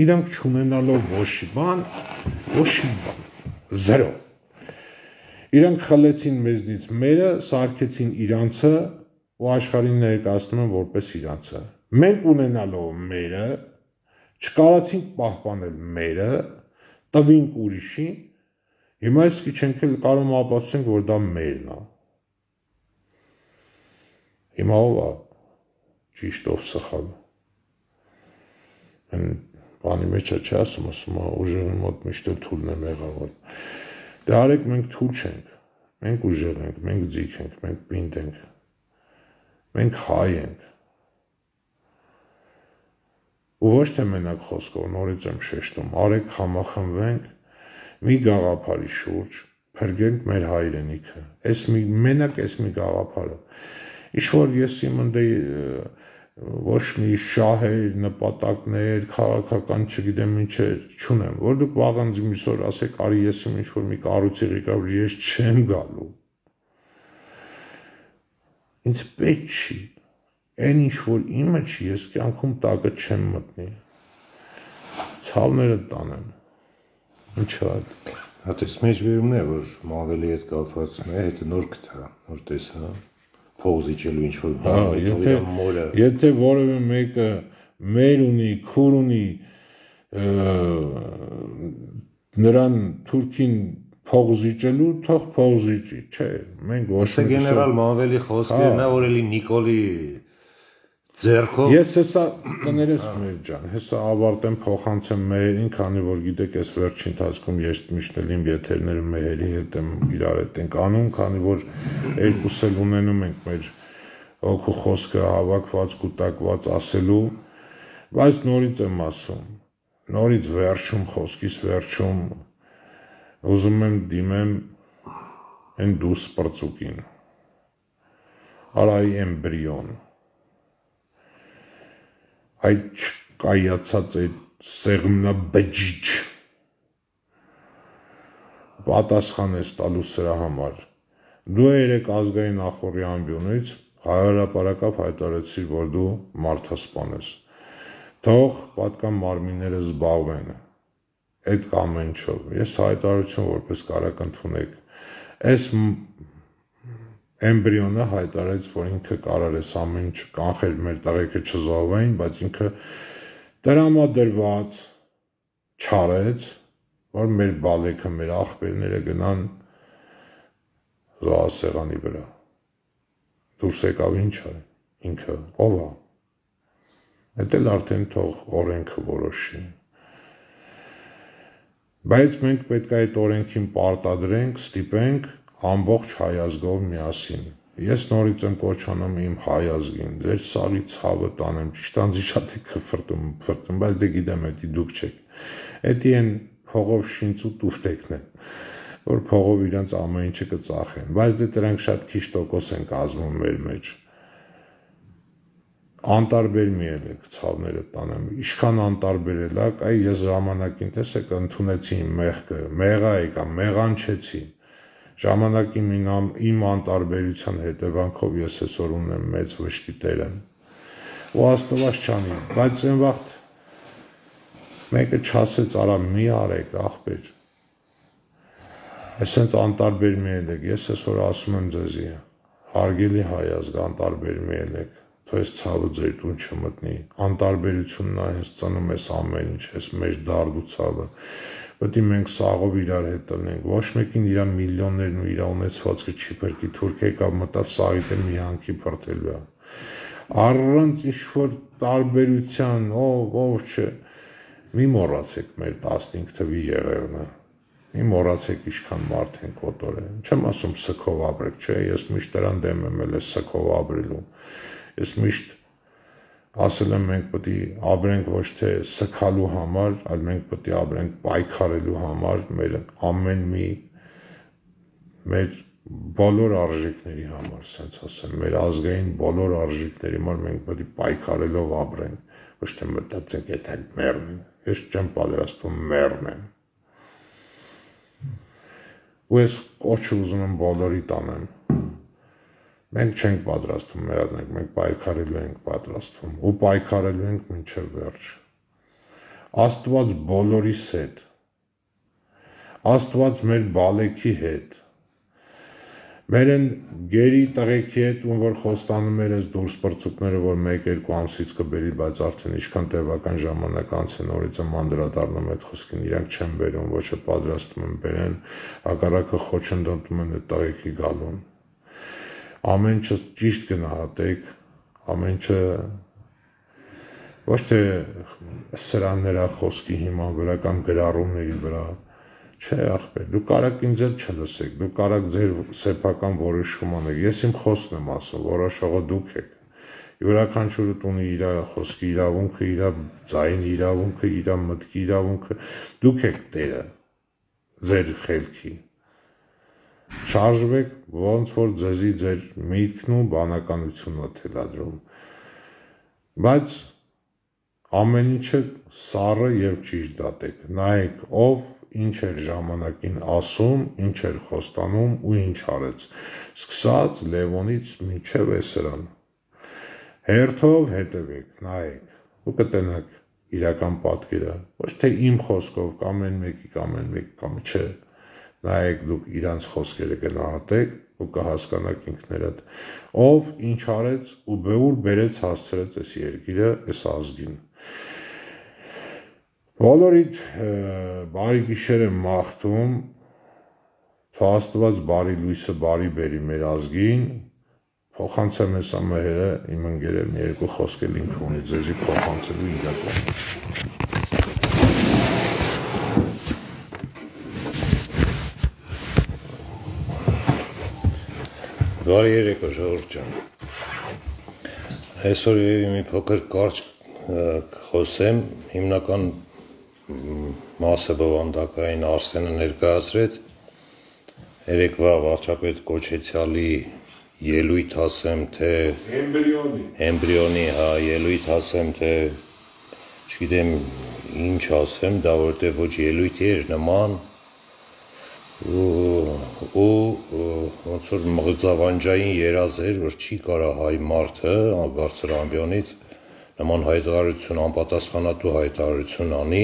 իրանք չունենալով ոչի բան, զրո։ Իրանք խլեցին մեզնից մերը, սարքեցին իրանցը ու աշխարհին ներկայացնում են որպես իրանցը։ Մենք ունենալով մերը, չկարացինք պահպանել մերը, տվինք ուրիշին, հիմա իսկի չենք էլ կարող ապացուցենք, որ դա մերն է։ Հիմա ով է ճիշտ ով սխալ։ Այն բանի մեջ չի ասում ուժեղի մոտ միշտ թույլն է մեղավոր։ Դե արեք մենք թույլ չենք, մենք ուժեղ ենք, մենք ձիգ ենք, մենք պինդ ենք, մենք հայ ենք։ Ու ոչ թե մենակ խոսքով, նորից եմ շեշտում, արեք համախմբվենք մի գաղափարի շուրջ, փրկենք մեր հայրենիքը։ Մենակ այս մի գաղափարը։ Ինչ-որ ես իմ ընդե ոչ մի շահեր, նպատակներ, քաղաքական չգիտեմ ինչեր չունեմ, որ դուք վաղանց միսօր ասեք, արի ես իմ ինչ-որ մի կառույցի ղեկավար, ես չեմ գալու։ Ինձ պետք չի, այն ինչ-որ իմը չի, ես կյանքում տակը չեմ մտնի, ցավները տանեմ, ինչ է։ Հատես մեջբերումն է, որ Մավելի հետ կապված է, հետը նոր գտա, նոր տեսա, փող զիջելու ինչ-որ բան, եթե որևէ մեկը մեր ունի, քուր ունի, նրան թուրքին փող զիջելու, թող փող զիջի, չէ, մենք ոչ մի գեներալ Մավելի խոսքերն է, որ էլի Նիկոլի ձեռքով։ Ես հեսա տներես մեր ջան, հեսա ավարտեմ փոխանցեմ մեհերին, քանի որ գիտեք, այս վերջին ընթացքում ես միշտ էլ իմ եթերները մեհերի հետ եմ իրար հետ ենք անում, քանի որ երկուս էլ ունենում ենք մեր օգու խոսքը հավաքված, կուտակված ասելու, բայց նորից եմ ասում, նորից վերջում, խոսքիս վերջում ուզում եմ դիմեմ այն դուս պրծուկին, արայի էմբրիոն, այդ չկայացած այդ սեղմնաբջիջ պատասխան ես տալու սրա համար։ Դու երեք ազգային նախորի ամբյոնից հայրապարակապ հայտարարեցիր, որ դու մարդասպան ես։ Թող պատկան մարմինները զբաղվեն այդ ամենչով։ Ես հայտարարություն որպես կարակ ընդունեք։ Այս էմբրիոնը հայտարարեց, որ ինքը կարող է ամեն ինչ կանխել մեր տղեկը չզոհվեն, բայց ինքը տրամադրված չարեց, որ մեր բալեքը, մեր աղբերները գնան զոհասեղանի վրա։ Դուրս եկավ ինչ է, ինքը ով է։ Այդ էլ արդեն թող օրենքը որոշի։ Բայց մենք պետք է այդ օրենքին պարտադրենք, ստիպենք ամբողջ հայ ազգով միասին։ Ես նորից եմ կոչանում իմ հայ ազգին, ձեր սարի ցավը տանեմ, ճիշտ անձի շատ եք ֆրտում, բայց դե գիտեմ, էդի դուք չեք։ Էդի են փողով շինց ու տուֆտեկն են, որ փողով իրանց ամեն ինչը կծախեն, բայց դե դրանք շատ քիչ տոկոս են կազմում մեր մեջ։ Անտարբեր մի ելեք, ցավները տանեմ, ինչքան անտարբեր ելակ, այ ես ժամանակին տեսեք ընդունեցի իմ մեղքը, մեղա եկա, մեղանչեցի։ Ժամանակի իմ անտարբերության հետևանքով ես այսօր ունեմ մեծ վշտի տերն ու աստված չանի, բայց այն վաղտ մեկը չասեց արա մի արեք աղբեր, այսենց անտարբեր մի ելեք, ես այսօր ասում եմ ձեզի, հարգելի հայ ազգ, անտարբեր մի ելեք, թող այս ցավը ձեր տուն չմտնի, անտարբերությունն է հենց ծնում ես ամեն ինչ, ես մեջ դարդու ցավը, պետք է մենք սաղով իրար հետ տնենք, ոչ մեկին իր միլիոններն ու իր ունեցվածքը չի փրկի, Թուրքիա մտավ սաղիթը մի հանքի փրկելու է, առանց ինչ-որ տարբերության, ով չէ, մի մոռացեք մեր 15 թվի եղերնը, մի մոռացեք ինչքան մարդ են կոտորել, չեմ ասում սքով ապրեք, չէ, ես միշտ դրան դեմ եմ էլ սքով ապրելու, ես միշտ ասել եմ մենք պետք է ապրենք ոչ թե սգալու համար, այլ մենք պետք է ապրենք պայքարելու համար, մեր ամեն մի մեր բոլոր արժեքների համար, ասենց ասեմ, մեր ազգային բոլոր արժեքների համար մենք պետք է պայքարելով ապրենք, ոչ թե մտածենք եթե մեռնեն, ես չեմ պատրաստվում մեռնեմ։ Ու ես կոչը ուզում եմ բոլորի տանեմ։ Մենք չենք պատրաստվում մեռնենք, մենք պայքարելու ենք պատրաստվում ու պայքարելու ենք մինչև վերջ։ Աստված բոլորիս հետ։ Աստված մեր բալեքի հետ։ Մեր են գերի տղեկի հետ, ում որ խոստանում էր այս դուրս պրծուկները, որ 1-2 ամսից կբերի, բայց արդեն ինչքան տևական ժամանակ անց է նորից եմ անդրադառնում այդ խոսքին, իրանք չեն բերում, ոչ է պատրաստում են բերեն, հակառակը խոչընդոտում են այդ տղեկի գալուն։ Ամեն ինչը ճիշտ գնահատեք, ամեն ինչը ոչ թե սրաններա խոսքի հիման վրա կամ գրառումների վրա, չէ ախպեր, դու կարաք ինձ էլ չլսեք, դու կարաք ձեր սեփական որոշում անեք, ես իմ խոսքն եմ ասում, որոշողը դուք եք, յուրաքանչյուրը ունի իր խոսքի իրավունքը, իր ձայնի իրավունքը, իր մտքի իրավունքը, դուք եք տերը ձեր խելքի, շարժվեք, ոնց որ ձեզի ձեր միտքն ու բանականությունը թելադրում, բայց ամեն ինչը սառը և ճիշտ դատեք, նայեք ով ինչ էր ժամանակին ասում, ինչ էր խոստանում ու ինչ արեց, սկսած Լևոնից մինչև էսրան, հերթով հետևեք, նայեք ու կտենաք իրական պատկերը, ոչ թե իմ խոսքով կամ ամեն մեկի կամ չէ, նայեք դուք իրանց խոսքերը գնահատեք ու կհասկանաք ինքներդ, ով ինչ արեց ու ուր բերեց հասցրեց այս երկիրը, այս ազգին։ Բոլորիդ բարի գիշեր եմ մաղթում, թող Աստված բարի լույսը բարի բերի մեր ազգին, փոխանցեմ ես ամահերը իմ ընկերը մի երկու խոսքել ինքը ունի ձեզի փոխանցելու իրական։ Բարի երեկո ժողովուրդ ջան։ Այսօր մի փոքր կարճ խոսեմ, հիմնական մասը բովանդակային Արսենը ներկայացրեց, երեկվա վարչապետ Կոչեցյալի ելույթ ասեմ, թե էմբրիոնի, ելույթ ասեմ, թե չգիտեմ ինչ ասեմ, դա որտեղ ոչ ելույթ էր նման ու ոնց որ մղձավանջային երազ էր, որ չի կարա հայ մարդը բարձր ամբիոնից նման հայտարարություն, անպատասխանատու հայտարարություն անի,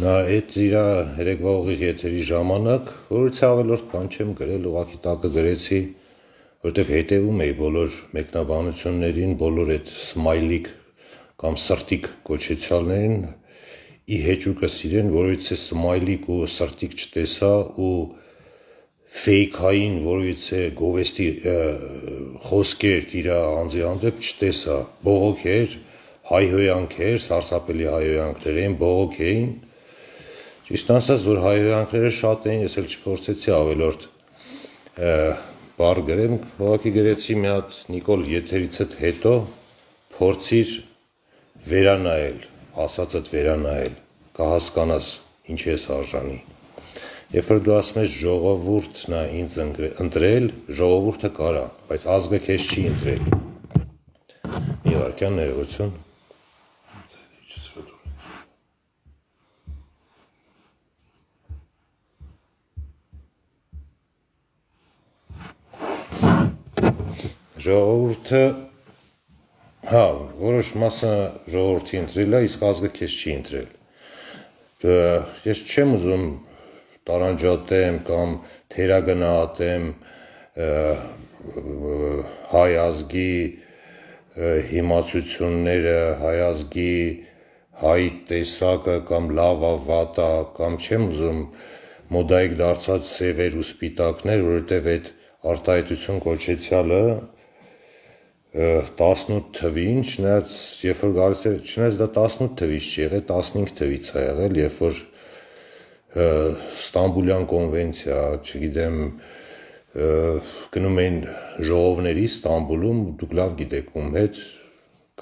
նա այդ իր երեկվա ուղիղ եթերի ժամանակ, որից ավելորդ բան չեմ գրել, ուղղակի տակը գրեցի, որտեղ հետևում էի բոլոր մեկնաբանություններին, բոլոր այդ սմայլիկ կամ սրտիկ կոչեցյալներին, ի հեճուկս իրեն, որից է սմայլիկ ու սրտիկ չտեսա ու ֆեյքային, որից է գովեստի խոսքեր իր անձի հանդեպ չտեսա, բողոք էր, հայհոյանք էր, սարսափելի հայհոյանքներ էին, բողոք էին, ճիշտ ասած, որ հայհոյանքները շատ էին, ես էլ չփորձեցի ավելորդ բառ գրեմ, ուղղակի գրեցի մի հատ Նիկոլ եթերիցդ հետո փորձիր վերանայել, ասածդ վերանայել, կհասկանաս ինչ ես արժանի։ Երբ որ դու ասում ես ժողովուրդն է ինձ ընտրել, ժողովուրդը կարա, բայց ազգը քեզ չի ընտրել։ Մի վարքյան ներողություն։ Ժողովուրդը, որոշ մասը ժողովրդի ընտրել է, իսկ ազգը քեզ չի ընտրել։ Ես չեմ ուզում տարանջատեմ կամ թերագնահատեմ հայ ազգի հիմացությունները, հայ ազգի հայ տեսակը կամ լավա վատա կամ չեմ ուզում մոդայիկ դարձած սևեր ու սպիտակներ, որովհետև այդ արտահայտություն կոչեցյալը 18 թվին, չնայած երբ որ գալիս էր, չնայած դա 18 թվից չի եղել, 15 թվից է եղել, երբ որ Ստամբուլյան կոնվենցիա, չգիտեմ, գնում էին ժողովների Ստամբուլում, դուք լավ գիտեք ում հետ,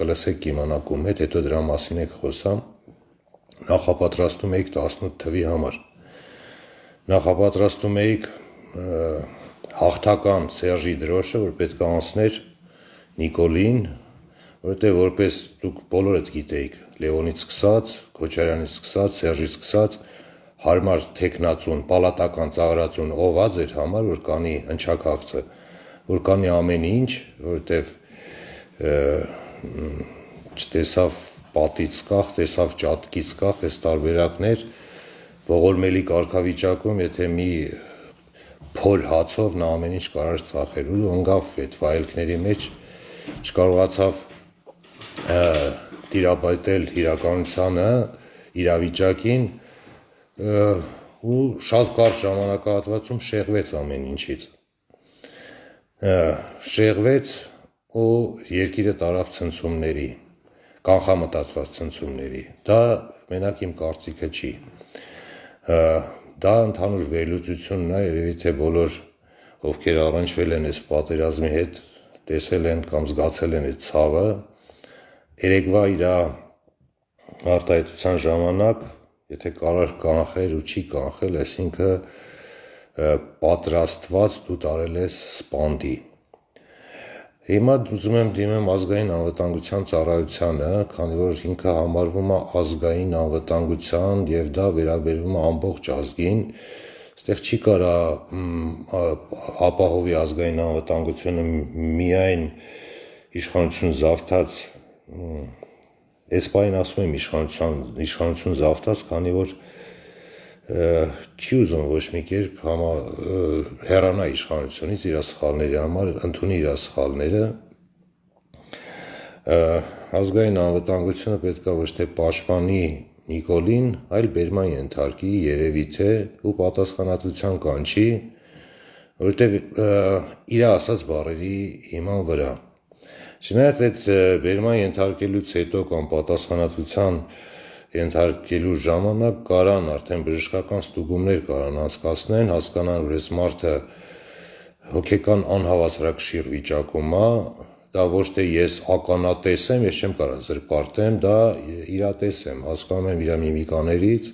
կլսեք կիմանաք ում հետ, հետո դրա մասին եք խոսամ, նախապատրաստում էիք 18 թվի համար, նախապատրաստում էիք հաղթական Սերժի դրոշը, որ պետք է անցներ Նիկոլին, որովհետև որպես դուք բոլորդ գիտեիք, Լևոնից սկսած, Քոչարյանից սկսած, Սերժից սկսած, հարմար թեկնածուն, պալատական ծաղրածուն ողած էր համար, որ կանի հնչակաղցը, որ կանի ամեն ինչ, որովհետև չտեսավ պատից կախ, տեսավ ճատկից կախ, այս տարբերակներ ողորմելի կարգավիճակում, եթե մի փոլ հացով նա ամեն ինչ կարար ծախել ու ընկավ այդ վայելքների մեջ, չկարողացավ տիրապետել իրականությանը, իրավիճակին ու շատ կարճ ժամանակահատվածում շեղվեց ամեն ինչից, շեղվեց ու երկիրը տարավ ցնցումների, կանխամտածված ցնցումների, դա մենակ իմ կարծիքը չի, դա ընդհանուր վերլուծությունն է, երևի թե բոլոր ովքեր առնչվել են այս պատերազմի հետ, տեսել են կամ զգացել են այդ ցավը, երեկվա իր արտահայտության ժամանակ, եթե կարար կանխել ու չի կանխել, այսինքն պատրաստված դու տարել ես սպանդի։ Հիմա ուզում եմ դիմեմ ազգային անվտանգության ծառայությանը, քանի որ ինքը համարվում է ազգային անվտանգության եւ դա վերաբերվում է ամբողջ ազգին, այստեղ չի կարա ապահովի ազգային անվտանգությունը միայն իշխանություն զավթած, այս պահին ասում եմ իշխանություն զավթած, քանի որ չի ուզում ոչ մի կերպ հեռանա իշխանությունից իր սխալների համար, ընդունի իր սխալները, ազգային անվտանգությունը պետք է ոչ թե պաշտպանի Նիկոլին, այլ բերման ենթարկի, երևի թե ու պատասխանատվության կանչի, որովհետև իր ասած բառերի հիման վրա։ Չնայած այդ բերման ենթարկելուց հետո կամ պատասխանատվության ենթարկելու ժամանակ կարան արդեն բժշկական ստուգումներ կարան անցկացնեն, հասկանան, որ այս մարդը հոգեկան անհավասարակշիռ վիճակում է, դա ոչ թե ես ականատես եմ, ես չեմ կարող զրպարտեմ, դա իրատես եմ, հասկանում եմ իր միմիկաներից,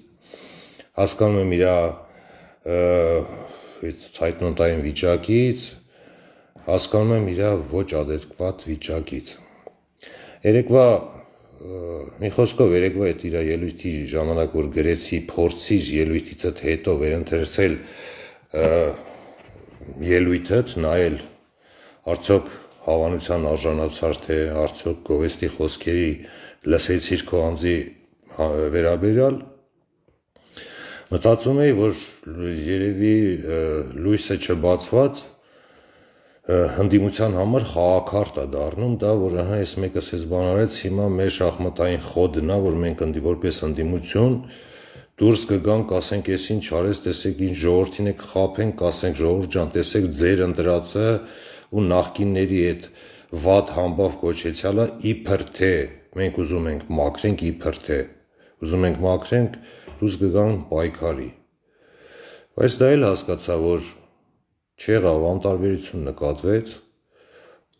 հասկանում եմ իր ցայտնոտային վիճակից, հասկանում եմ իր ոչ ադեկվատ վիճակից։ Երեկվա մի խոսքով երեկվա այդ իր ելույթի ժամանակ, որ գրեցի, փորձիր ելույթիցդ հետո վերընթերցել ելույթդ, նայել արդյոք հավանության արժանացար, թե արդյոք գովեստի խոսքերի լսեցիր քո անձի վերաբերյալ, մտածում էի, որ երևի լույսը չբացված հնդիմության համար խաղաքարտ է դառնում, դա որ այս մեկը սեզ բան արեց, հիմա մեր շախմատային խոդն է, որ մենք որպես հնդիմություն դուրս կգանք, ասենք ես ինչ արեց, տեսեք ինչ ժողովրդին եք խաբենք, ասենք ժողովուրդ ջան, տեսեք ձեր ընտրածը ու նախկինների այդ վատ համբավ կոչեցյալը իբր թե մենք ուզում ենք մաքրենք, իբր թե ուզում ենք մաքրենք, դուրս կգան պայքարի։ Բայց դա էլ հասկացա, որ չեղավ, անտարբերություն նկատվեց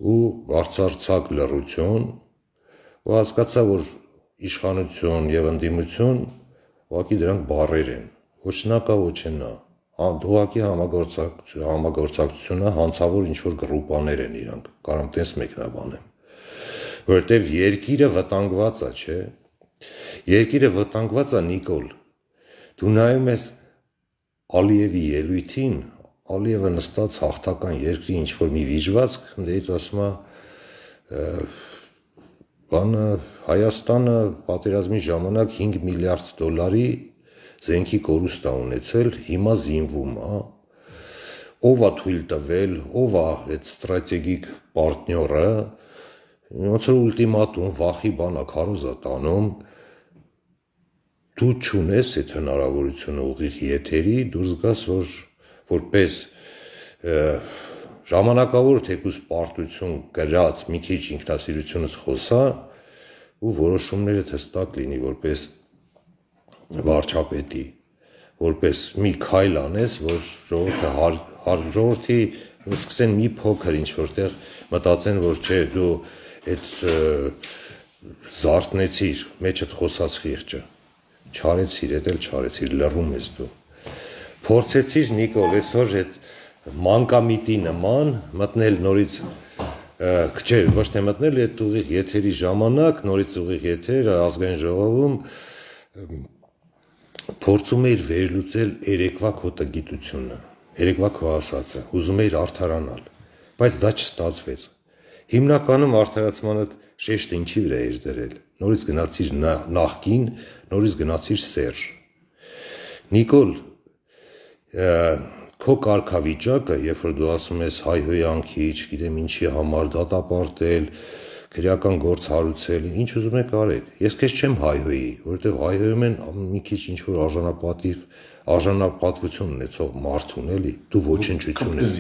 ու բարձրացակ լռություն ու հասկացա, որ իշխանություն եւ ընդդիմություն ուղղակի դրանք բառեր են, ոչ նա կա, ոչ նա, ուղղակի համագործակցությունը հանցավոր ինչ-որ գրուպաներ են իրանք, կարամ տես մեկնաբանեմ, որովհետեւ երկիրը վտանգված է, չէ, երկիրը վտանգված է Նիկոլ, դու նայում ես Ալիևի ելույթին, Ալիևը նստած հաղթական երկրի ինչ-որ մի վիժվածք, դեից ասում է, Հայաստանը պատերազմի ժամանակ 5 միլիարդ դոլարի զենքի կորուստ է ունեցել, հիմա զինվում է, ով է թույլ տվել, ով է այդ ստրատեգիկ պարտնյորը, ոնց որ ուլտիմատում, վախի բան է, քարոզ է տանում, դու չունես այդ հնարավորությունը ուղիղ եթերի, դուրս գաս, որ որպես ժամանակավոր թեկուզ պարտություն գրած մի քիչ ինքնասիրությունից խոսա ու որոշումները հստակ լինի որպես վարչապետի, որպես մի քայլ անես, որ ժողովրդի սկսեն մի փոքր ինչ որտեղ մտածեն, որ չէ, դու այդ զարթնեցիր, մեջդ խոսած խիղճը, չարեցիր, էդ էլ չարեցիր, լռում ես դու։ Փորձեցիր Նիկոլ, այսօր այդ մանկամիտի նման մտնել նորից, չէ, ոչ թե մտնել այդ ուղիղ եթերի ժամանակ, նորից ուղիղ եթեր ազգային ժողովում փորձում էիր վերլուծել երեկվա քո տգիտությունը, երեկվա քո ասածը, ուզում էիր արդարանալ, բայց դա չստացվեց։ Հիմնականում արդարացմանդ շեշտը ինչի վրա էր դրել, նորից գնացիր նախկին, նորից գնացիր Սերժ։ Նիկոլ, քո կարգավիճակը, երբ որ դու ասում ես հայհոյանքի, չգիտեմ ինչի համար դատապարտել, քրեական գործ հարուցել, ինչ ուզում եք արեք։ Ես քեզ չեմ հայհոյի, որովհետև հայհոյում են մի քիչ ինչ որ արժանապատվություն ունեցող մարդուն, էլի, դու ոչնչություն ես։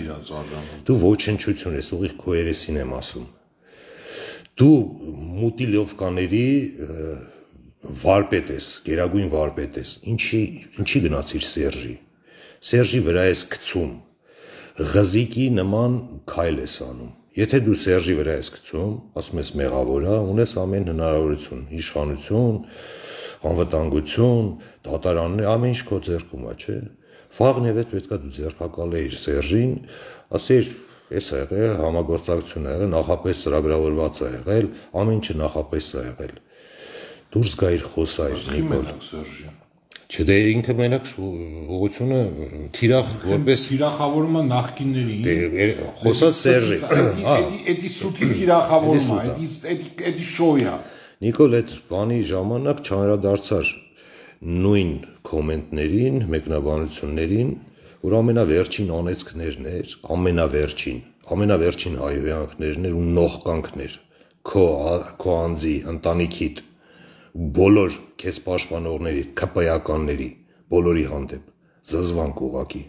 Դու ոչնչություն ես, ուղիղ քո երեսին եմ ասում։ Դու մուտիլովկաների վարպետ ես, գերագույն վարպետ ես։ Ինչի գնացիր Սերժի։ Սերժի վրա ես գցում, ղզիկի նման քայլ ես անում։ Եթե դու Սերժի վրա ես գցում, ասում ես մեղավոր է, ունես ամեն հնարավորություն, իշխանություն, անվտանգություն, դատարաններ, ամեն ինչ քո ձեռքում է, չէ։ Վաղն եւ հետ պետքա դու ձեռքակալեիր Սերժին, ասեիր, էս է եղել, համագործակցություն է եղել, նախապես ծրագրավորված է եղել, ամեն ինչը նախապես է եղել։ Դուրս գայիր խոսայիր Նիկոլ։ Չէ, դե ինքը մենակ ուղղությունը թիրախ որպես թիրախավորումը նախկինների խոսած Սերժի։ Էդի սուտի թիրախավորումը, էդի շոյա։ Նիկոլ, այդ բանի ժամանակ չանդրադարձար նույն կոմենտներին, մեկնաբանություններին, որ ամենավերջին անեծքներն էր, ամենավերջին հայհոյանքներն էր ու նողկանքներ քո անձի, ընտանիքիդ, բոլոր քեզ պաշտպանողների, ԿՊ-ականների, բոլորի հանդեպ, զզվանք ուղղակի։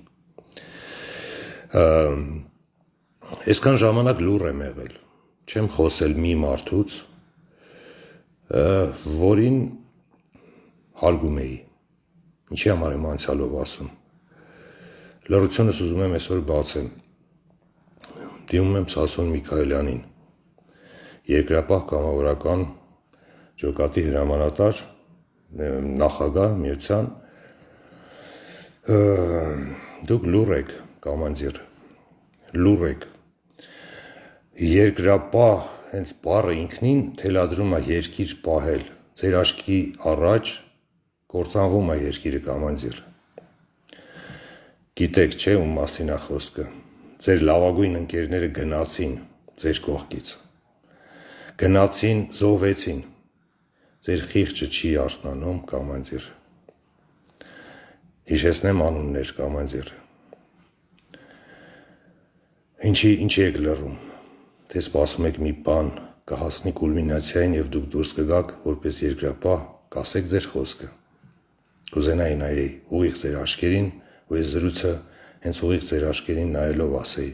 Այսքան ժամանակ լուռ եմ եղել, չեմ խոսել մի մարդուց, որին հարգում էի, ինչի համար եմ անցյալով ասում։ Լռությունս ուզում եմ այսօր բացեմ, դիմում եմ Սասուն Միքայելյանին, երկրապահ կամավորական ջոկատի հրամանատար, նախագահ միության, դուք լուռ եք, կամանդիր, լուռ եք, երկրապահ հենց բառը ինքնին թելադրում է երկիր պահել, ձեր աչքի առաջ կործանվում է երկիրը կամանդիր, գիտեք չէ ում մասին է խոսքը, ձեր լավագույն ընկերները գնացին ձեր կողքից, գնացին, զոհվեցին, ձեր խիղճը չի արթնանում կամանդիր, հիշեցնեմ անուններ կամանդիր, ինչի եք լռում, թե սպասում եք մի բան կհասնի կուլմինացիային և դուք դուրս կգաք որպես երկրապահ, կասեք ձեր խոսքը, կուզենայի նայեի ուղիղ ձեր աչքերին, ու այս զրույցը հենց ուղիղ ձեր աչքերին նայելով ասեի,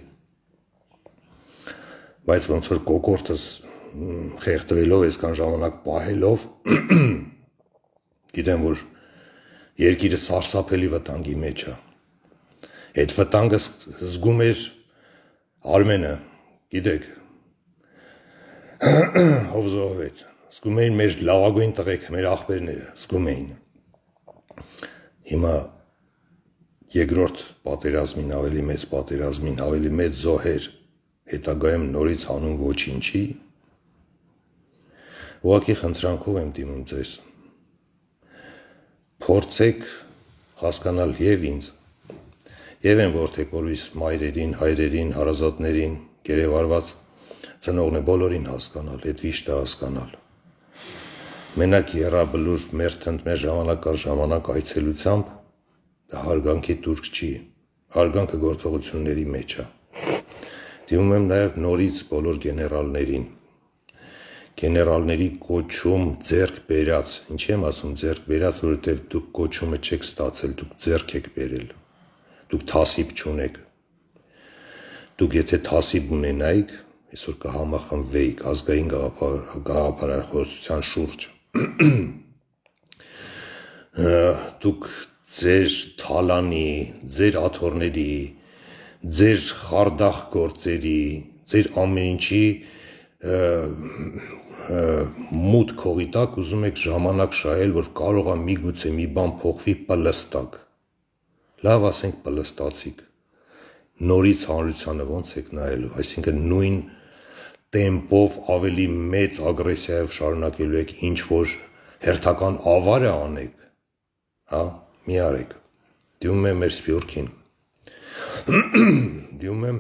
բայց ոնց որ կոկորդս խեղդվելով այսքան ժամանակ պահելով, գիտեմ, որ երկիրը սարսափելի վտանգի մեջ է, այդ վտանգը զգում էր Արմենը, գիտեք, ով զոհվեց, զգում էին մեր լավագույն տղեկ, մեր աղբերները, զգում էին, հիմա երկրորդ պատերազմին, ավելի մեծ զոհեր, հետագայում նորից հանուն ոչինչի, ուղղակի խնդրանքով եմ դիմում ձեզ, փորձեք հասկանալ և ինձ, և են որդեկորիս մայրերին, հայրերին, հարազատներին, գերեվարված ծնողն է բոլորին հասկանալ, այդ վիշտը հասկանալ, մենակ եռաբլուր մեր ժամանակ առ ժամանակ այցելությամբ, դա հարգանքի տուրք չի, հարգանքը գործողությունների մեջ է, դիմում եմ նաև նորից բոլոր գեներալների կոչում ձեռք բերած, ինչի եմ ասում ձեռք բերած, որովհետև դուք կոչումը չեք ստացել, դուք ձեռք եք բերել, դուք թասիբ չունեք, դուք եթե թասիբ ունենայիք, այսօր կհամախմբվեիք ազգային գաղափարախոսության շուրջ, դուք ձեր թալանի, ձեր աթոռների, ձեր խարդախ գործերի, ձեր ամեն ինչի մութ քողի տակ ուզում եք ժամանակ շահել, որ կարող է միգուցե մի բան փոխվի պլստակ։ Լավ ասենք պլստացիք։ Նորից հանրությանը ոնց եք նայելու, այսինքն նույն տեմպով ավելի մեծ ագրեսիայով շարունակելու եք ինչ որ հերթական ավարը անեք, հա, մի արեք։ Դիմում եմ մեր Սփյուռքին, դիմում եմ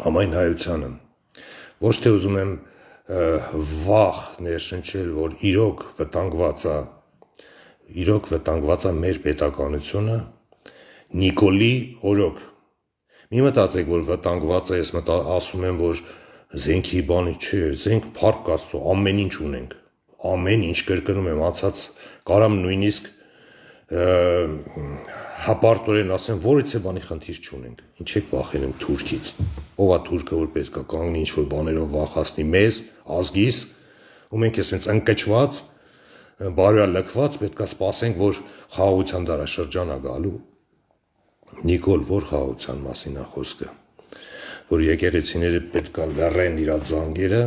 համայն հայությանը, ոչ թե ուզում եմ վախ ներշնչել, որ իրոք վտանգված է մեր պետականությունը, Նիկոլի օրոք։ Մի մտածեք, որ վտանգված է, ես ասում եմ, որ զենքի բանի չէ, զենք փառք Աստծո, ամեն ինչ ունենք, ամեն ինչ կրկնում եմ, անցած կարամ նույնիսկ հապարտորեն ասեմ, որից է բանի խնդիր չունենք, ինչ եք վախենում Թուրքից, ով է Թուրքը, որ պետք է կանգնի ինչ-որ բաներով վախացնի մեզ, ազգիս, ու մենք էսենց ընկճված, բարոյալքված պետք է սպասենք, որ խաղաղության դարաշրջան է գալու։ Նիկոլ, որ խաղաղության մասին է խոսքը, որ եկեղեցիները պետք է լռեն իրաց զանգերը,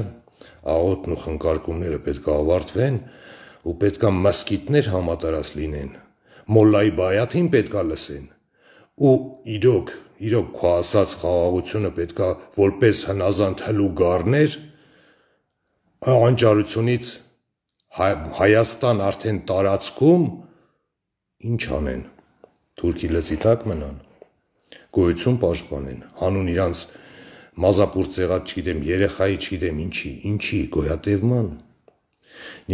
աղոթն ու խնկարկումները պետք է ավարտվեն ու պետք է մսկիթներ համատարած լինեն, մոլլայի բայաթին պետք է լսեն ու իրոք քո ասած խաղաղությունը պետք է որպես հնազանդ հլուգարներ անճարությունից Հայաստան արդեն տարածքում ինչ անեն, Թուրքի լծի տակ մնան, գոյություն պաշտպանեն, հանուն իրանց մազապուր ծեղած չգիտեմ, երեխայի չգիտեմ ինչի, գոյատևման։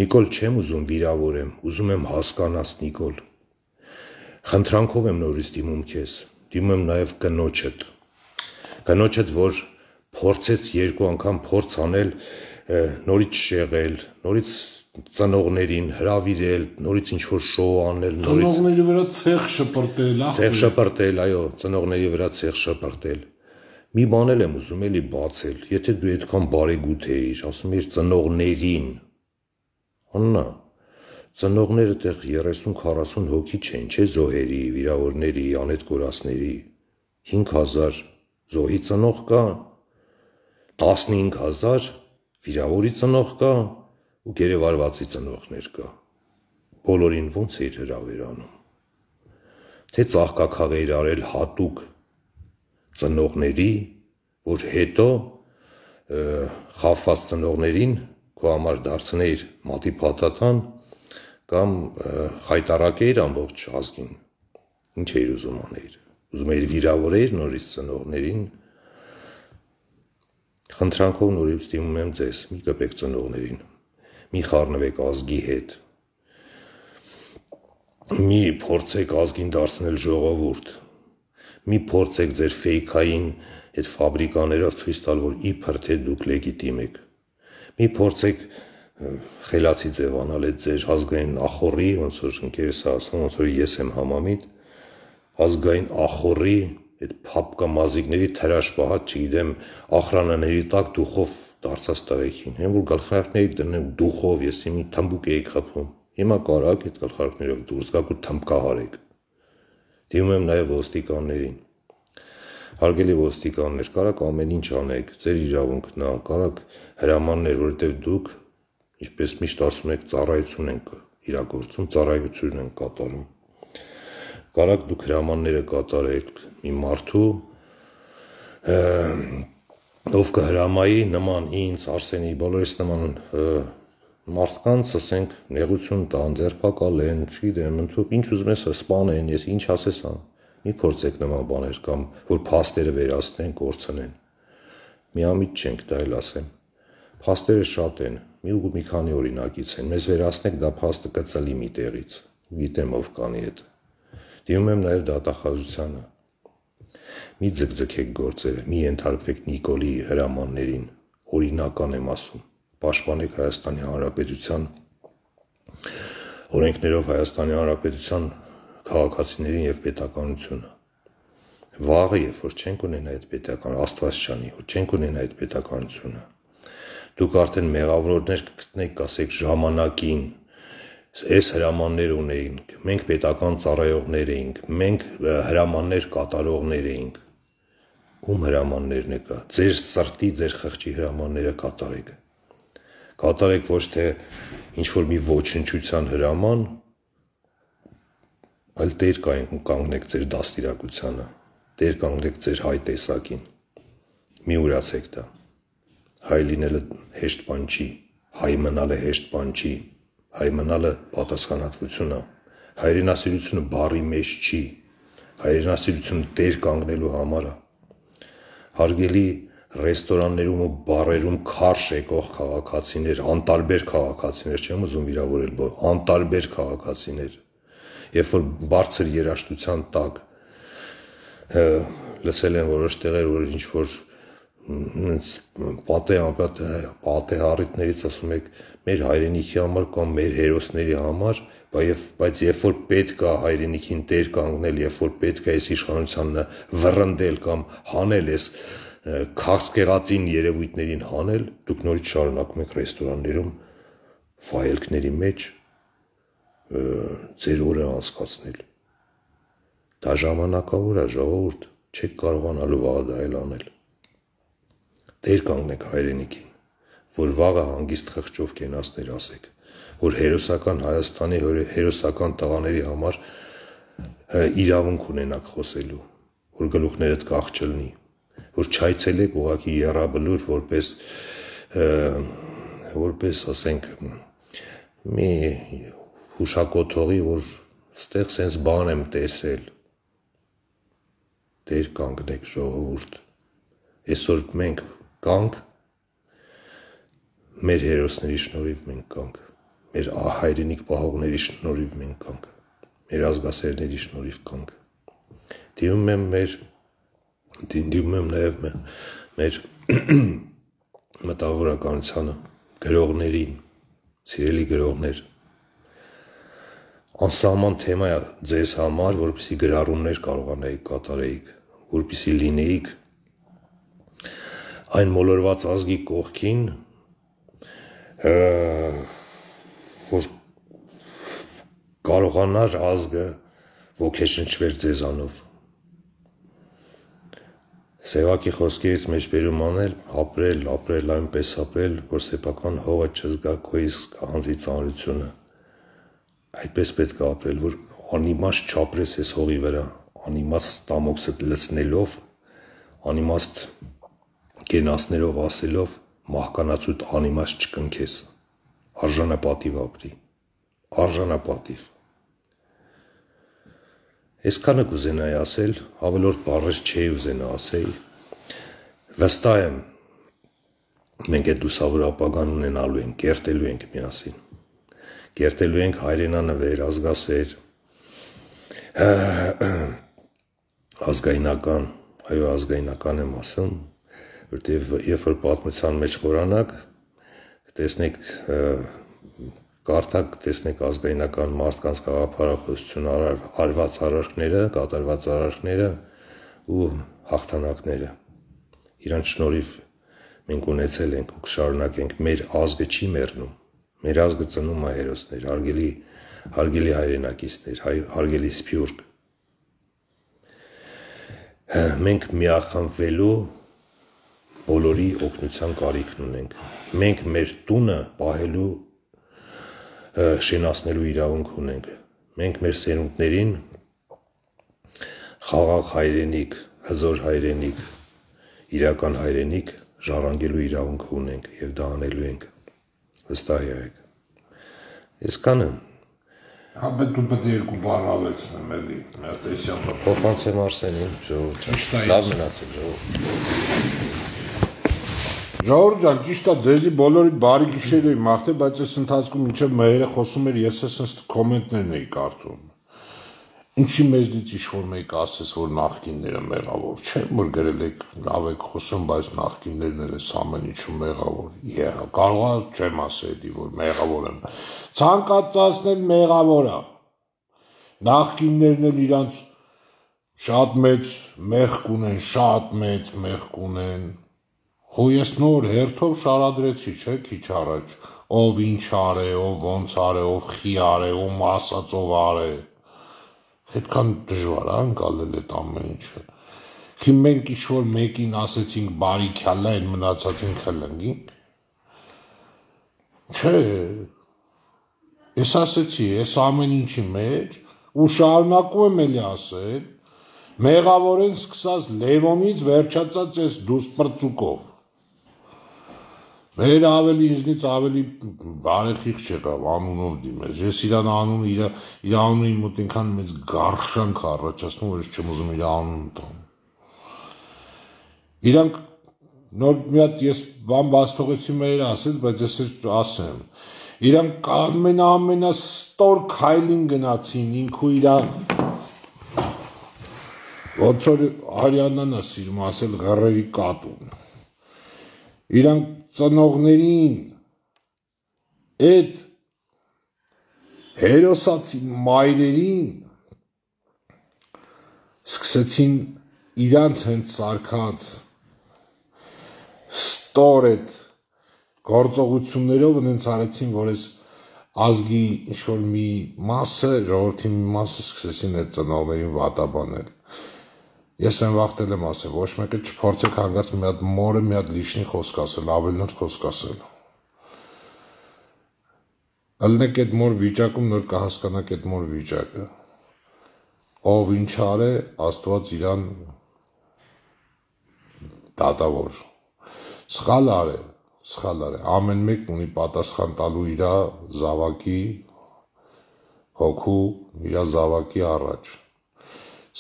Նիկոլ չեմ ուզում վիրավորեմ, ուզում եմ հասկանաս Նիկոլ։ Խնդրանքով եմ նորից դիմում քեզ, դիմում եմ նաև կնոջդ, որ փորձեց երկու անգամ փորձ անել, նորից շեղել, նորից ծնողներին հրավիրել, նորից ինչ-որ շոու անել, ծնողների վրա ցեղ շպրտել, այո, ծնողների վրա ցեղ շպրտել։ Մի բան եմ ուզում էլի բացել, եթե դու այդքան բարեգութ էիր, ասում էիր ծնողներին, աննա, ծնողները տեղ 30-40 հոգի չեն, չէ զոհերի, վիրավորների, անետ կորածների, 5000 զոհի ծնող կա, 15000 վիրավորի ծնող կա ու գերեվարվածի ծնողներ կա, բոլորին ոնց էր հրավերանում, թե ծաղկաքաղ էր արել հատուկ ծնողների, որ հետո խավված ծնողներին քո համար դարձնեիր մատի փաթաթան կամ խայտարակեիր ամբողջ ազգին, ինչ էիր ուզում անել, ուզում էիր վիրավորեիր նորից ծնողներին, խնդրանքով նորից դիմում եմ ձեզ, մի կպեք ծնողներին, մի խառնվեք ազգի հետ, մի փորձեք ազգին դարձնել ժողովուրդ, մի փորձեք ձեր ֆեյքային այդ ֆաբրիկաներով ցույց տալ, որ իբր թե դուք լեգիտիմ եք, մի փորձեք խելացի ձևանալ այդ ձեր ազգային ախորի, ոնց որ ընկերս ասում, ոնց որ ես եմ համամիտ, ազգային ախորի, այդ փապկամազիկների թրաշպահած, չգիտեմ, ախրանաների տակ դուխով դարձած տղեկին, հեն որ գլխարկներիք դնեմ դուխով, ես մի թմբուկ էի խփում, հիմա կարակ այդ գլխարկներով դուրս գաք ու թմբկահարեք։ Դիմում եմ նաև ոստիկաններին, հարգելի ոստիկաններ, կարակ ամեն ինչ անեք, ձեր իրավունքն է, կարակ հրամաններ, որովհետև դուք, ինչպես միշտ ասում եք, ծառայություն ենք իրագործում, ծառայություն ենք կատարում, կարակ դուք հրամանները կատարեք մի մարդու, ով կհրամայի նման ինձ, Արսենի, բոլորիս նման մարդկանց, ասենք, նեղություն տան, ձերբակալեն, չգիտեմ, ընդհանուր ինչ ուզում ես սպանեն, ես ինչ ասես ան, մի փորձեք նման բաներ կամ որ փաստերը վերացնեն, կորցնեն։ Միամիտ չենք, դա էլ ասեմ։ Փաստերը շատ են, մի քանի օրինակից են, մեզ վերացնեք, դա փաստը կծլի մի տեղից, գիտեմ ով կանի հետ։ Դիմում եմ նաև դատախազությանը։ Մի ձգձգեք գործերը, մի ենթարկվեք Նիկոլի հրամաններին, օրինական եմ ասում, պաշտպանեք Հայաստանի Հանրապետության օրենքներով Հայաստանի Հանրապետության քաղաքացիներին եւ պետականությունը։ Վաղը, երբ որ չենք ունենա այդ պետական Աստվածչանի, որ չենք ունենա այդ պետականությունը, դուք արդեն մեղավորներ կգտնեք, կասեք ժամանակին, այս հրամաններ ունեինք, մենք պետական ծառայողներ էինք, մենք հրամաններ կատարողներ էինք, ում հրամաններն է կա, ձեր սրտի, ձեր խղճի հրամանները կատարեք, Կատարեք ոչ թե ինչ-որ մի ոչնչության հրաման, այլ տեր կանգնեք ձեր դաստիարակությանը, տեր կանգնեք ձեր հայ տեսակին, մի ուրացեք դա, հայ լինելը հեշտ բան չի, հայ մնալը հեշտ բան չի, հայ մնալը պատասխանատվություն է, հայրենասիրությունը բառի մեջ չի, հայրենասիրությունը տեր կանգնելու համար է, հարգելի ռեստորաններում ու բարերում քարշ եկող քաղաքացիներ, անտարբեր քաղաքացիներ, չեմ ուզում վիրավորել, անտարբեր քաղաքացիներ, երբ որ բարձր երաժշտության տակ լսել են որոշ տեղեր, որ ինչ-որ պատե առիթներից ասում եք մեր հայրենիքի համար կամ մեր հերոսների համար, բայց երբ որ պետք է հայրենիքին տեր կանգնել, երբ որ պետք է այս իշխանությանը վռնդել կամ հանել այս քաղցկեղածին երևույթներին հանել, դուք նորից շարունակում եք ռեստորաններում վայելքների մեջ ձեր օրը անցկացնել։ Դա ժամանակավոր է, ժողովուրդ, չեք կարողանալու վաղը դա էլ անել։ Տեր կանգնեք հայրենիքին, որ վաղը հանգիստ խղճով կենացներ ասեք, որ հերոսական Հայաստանի հերոսական տղաների համար իրավունք ունենաք խոսելու, որ գլուխներդ կախ չլինի, որ չայցելեք ուղղակի եռաբլուր որպես ասենք մի հուշակոթողի, որ ստեղ սենց բան եմ տեսել, տեր կանգնեք ժողովուրդ, այսօր մենք կանք, մեր հերոսների շնորհիվ մենք կանք, մեր հայրենիք պահողների շնորհիվ մենք կանք, մեր ազգասերների շնորհիվ կանք, դիմում եմ նաև մեր մտավորականությանը, գրողներին, սիրելի գրողներ, անսահման թեմա է ձեզ համար, որպեսզի գրառումներ կարողանայիք կատարեիք, որպեսզի լինեիք այն մոլորված ազգի կողքին, որ կարողանար ազգը ոգեշնչվեր ձեզանով։ Սևակի խոսքերից մեջ բերում անել, ապրել, այնպես ապրել, որ սեփական հողը չզգա քո իսկ անձի ծանրությունը։ Այդպես պետք է ապրել, որ անիմաստ չապրես այս հողի վրա, անիմաստ ստամոքսդ լցնելով, անիմաստ կենացներով ասելով, մահկանացուդ անիմաստ չկնքես, արժանապատիվ ապրի, արժանապատիվ։ Այսքանը կուզենայի ասել, ավելորդ բառեր չէի ուզենա ասել, վստահ եմ, մենք այդ լուսավոր ապագան ունենալու ենք, կերտելու ենք միասին, կերտելու ենք հայրենանվեր, ազգասեր, ազգայնական, այո ազգայնական եմ ասում, որտև երբ որ պատմության մեջ խորանաք, կտեսնեք կարդակ տեսնեք ազգայնական մարդկանց գաղափարախոսություն արված արարքները, կատարված արարքները ու հաղթանակները։ Իրանց շնորհիվ մենք ունեցել ենք ու կշարունակենք, մեր ազգը չի մեռնում, մեր ազգը ծնում է հերոսներ, հարգելի հայրենակիցներ, հարգելի սփյուռք։ Մենք միախմբվելու բոլորի օգնության կարիքն ունենք։ Մենք մեր տունը պահելու շենացնելու իրավունք ունենք, մենք մեր սերունդներին խաղաղ հայրենիք, հզոր հայրենիք, իրական հայրենիք ժառանգելու իրավունք ունենք և դա անելու ենք, վստահ եղեք, այսքանը Հաբետ դու պետք է երկու բառ ավելցնեմ էլի, միատեսյանը փոխանցեմ Արսենին, ժողովուրդ լավ մնացեք Ժողովուրդ ջան, ճիշտ է, ձեզի բոլորիդ բարի գիշեր էի մաղթել, բայց այս ընթացքում մինչև մհերը խոսում էր, ես այս կոմենտներն էի կարդում։ Ինչի մեզնից ինչ-որ մեկ ասես, որ նախկինները մեղավոր չեն, որ գրել եք, լավ եք խոսում, բայց նախկիններն էլ էս ամեն ինչում մեղավոր։ Կարող չեմ ասել, որ մեղավոր եմ։ Ցանկացածն էլ մեղավոր է։ Նախկիններն էլ իրանց շատ մեծ մեղք ունեն, շատ մեծ մեղք ունեն։ Հո ես նոր հերթով շարադրեցի, չէ, քիչ առաջ, ով ինչ արե, ով ոնց արե, ով խի արե, ում ասած ով արե։ Այդքան դժվար է անցալել այդ ամեն ինչը։ Քի մենք ինչ-որ մեկին ասեցինք բարի քյալա, այն մնացածին քլնգինք։ Չէ, ես ասեցի, ես ամեն ինչի մեջ ու շարունակում եմ էլի ասել, մեղավորեն սկսած Լևոնից վերջացած այս դուսպրծուկով։ Մեր ավելի ինձնից ավելի բարեխիղճ եղավ անունով դիմեց։ Ես իր անունը իմ մոտ այնքան մեծ գարշանք առաջացնում, որ ես չեմ ուզում իր անունը տամ։ Իրանք նոր մի հատ ես բան բաց թողեցի մեր ասեց, բայց ես ասեմ։ Իրանք ամենաստոր քայլին գնացին ինքու իրա ոնց որ Արիաննան է սիրում ասել ղռերի կատուն։ Իրանք ծնողներին այդ հերոսացի մայրերին սկսեցին իրանց հենց սարքած ստոր այդ գործողություններով նենց արեցին, որ այս ազգի ինչ-որ մի մասը, ժողովրդի մի մասը սկսեցին այդ ծնողներին վատաբանել։ Ես այն վաղտել եմ ասել, ոչ մեկը չփորձեք հանգած մի հատ մորը մի հատ լիշնի խոսք ասել, ավելնորդ խոսք ասել։ Ըլնեք այդ մոր վիճակում նոր կհասկանաք այդ մոր վիճակը։ Ով ինչ արե, Աստված իրան դատավոր։ Սխալ արե, ամեն մեկն ունի պատասխան տալու իր զավակի հոգու, իր զավակի առաջ։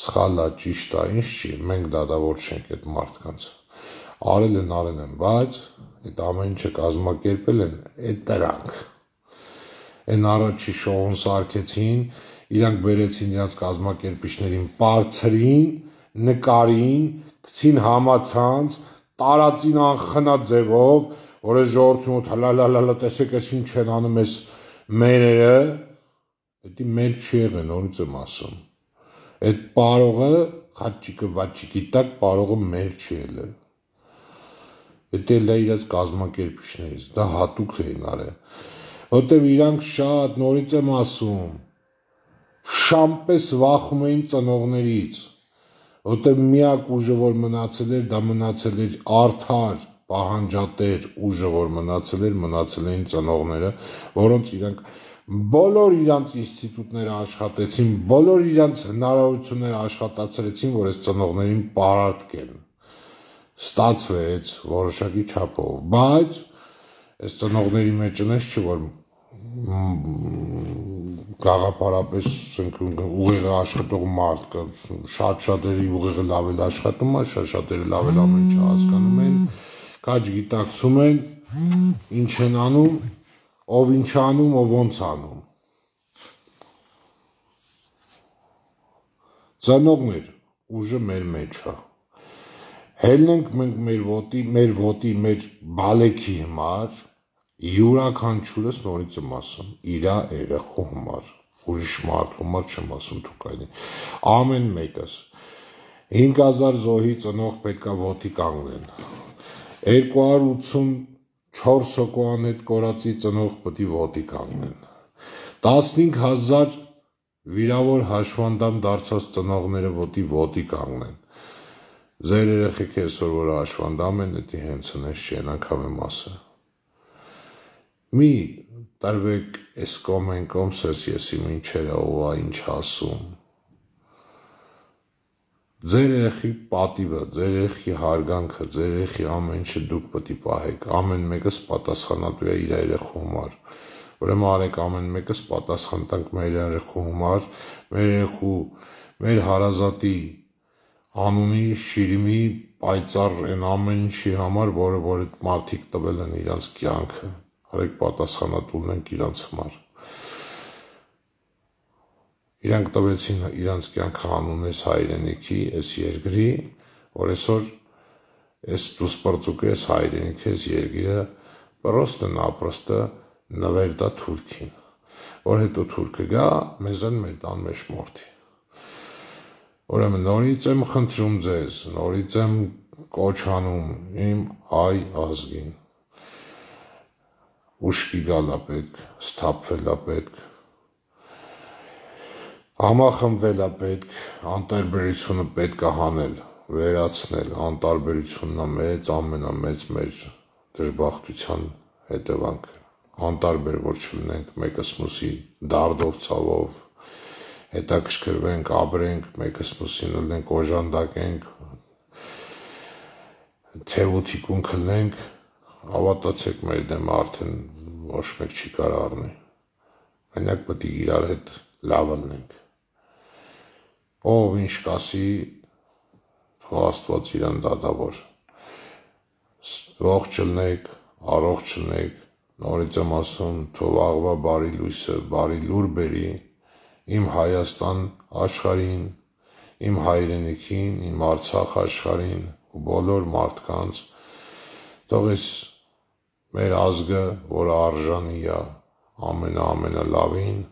Սխալա, ճիշտ է, ինչ չի, մենք դատավոր չենք այդ մարդկանց։ Արել են, բայց այդ ամեն ինչը կազմակերպել են այդ դրանք։ Այն առաջի շոուն սարքեցին, իրանք բերեցին իրանց կազմակերպիչներին, բարձրին, նկարին, գցին համացանց, տարածին անխնա ձևով, որ այս ժողովրդի մոտ հլալալալա տեսեք այս ինչ են անում այս մերերը, դա մեր չի եղել, նորից եմ ասում։ Այդ պարողը խաչիկը վաչիկի տակ պարողը մեր չի ելել։ Դա էլ է իրաց կազմակերպիչներից, դա հատուկ էին արել։ Որտեվ իրանք շատ նորից եմ ասում, շամպես վախում էին ծնողներից, որտեվ միակ ուժը որ մնացել էր, դա մնացել էր արդար, պահանջատեր ուժը որ մնացել էին ծնողները, որոնց իրանք բոլոր իրանց ինստիտուտները աշխատեցին, բոլոր իրանց հնարավորությունները աշխատացրեցին, որ այս ծնողներին պարարտկեն։ Ստացվեց որոշակի չափով, բայց այս ծնողների մեջ ունես չի, որ գաղափարապես ուղիղ աշխատող մարդ կա, շատ-շատերի ուղիղը լավ էլ աշխատում է, շատ-շատերը լավ էլ ամեն ինչ հասկանում են, քաջ գիտակցում են, ինչ են անում, ով ինչ անում, ով ոնց անում։ Ծնողներ, ուժը մեր մեջ է։ Հելնենք մենք մեր ոտի, մեր բալեքի համար, յուրաքանչյուրս նորից եմ ասում, իրա երեխու համար, ուրիշ մարդու համար չեմ ասում թուկայնի, ամեն մեկս, 5000 զոհի ծնող պետքա ոտի կանգնեն, 284 հոգոան հետ կորացի ծնող պետք է ոտի կանգնեն, 15000 վիրավոր հաշվանդամ դարձած ծնողները ոտի կանգնեն, ձեր երեխեք այսօր որ հաշվանդամ են, դա հենց հնես չի, են անգամ եմ ասը։ Մի տարվեք ես կոմ սես եսի մինչերը ով է ինչ ասում։ Ձեր երեխի պատիվը, ձեր երեխի հարգանքը, ձեր երեխի ամեն ինչը դուք պետք է պահեք, ամեն մեկս պատասխանատու է իր երեխու համար։ Ուրեմն արեք ամեն մեկս պատասխան տանք մեր երեխու համար, մեր երեխու, մեր հարազատի անունի, շիրիմի, պայծառ են ամեն ինչի համար, որը որ այդ մարդիկ տվել են իրանց կյանքը։ Արեք պատասխանատու լինենք իրանց համար։ Իրանք տվեցին իրանց կյանքը անուն այս հայրենիքի, այս երկրի, որ այսօր այս դուսպրծուկը, այս հայրենիքը, այս երկիրը պրոստը նվեր տա թուրքին, որ հետո թուրքը գա, մեզան մեր տան մեջ մորթի։ Ուրեմն նորից եմ խնդրում ձեզ, նորից եմ կոչ անում իմ հայ ազգին։ Ուշքի գալա պետք, սթափվելա պետք, համախմբվելա պետք, անտարբերությունը պետք է հանել, վերացնել, անտարբերությունն է մեծ, ամենամեծ մեր դժբախտության հետևանքը։ անտարբեր որ չլինենք մեկս մյուսի դարդով, ցավով, հետաքրքրվենք, ապրենք, մեկս մյուսին լինենք, օժանդակենք, թեւութիկուն քնենք, հավատացեք մեր դեմը արդեն ոչ մեկ չի կարող առնի։ Մենակ պետք է իրար հետ լավ լինենք։ Ով ինչ կասի, թող Աստված իրան դատավոր։ Ողջ լինեք, առողջ լինեք, նորից եմ ասում, թող աղվա բարի լույսը, բարի լուր բերի իմ Հայաստան աշխարհին, իմ հայրենիքին, իմ Արցախ աշխարհին ու բոլոր մարդկանց, թող այս մեր ազգը, որը արժանի է ամենալավին,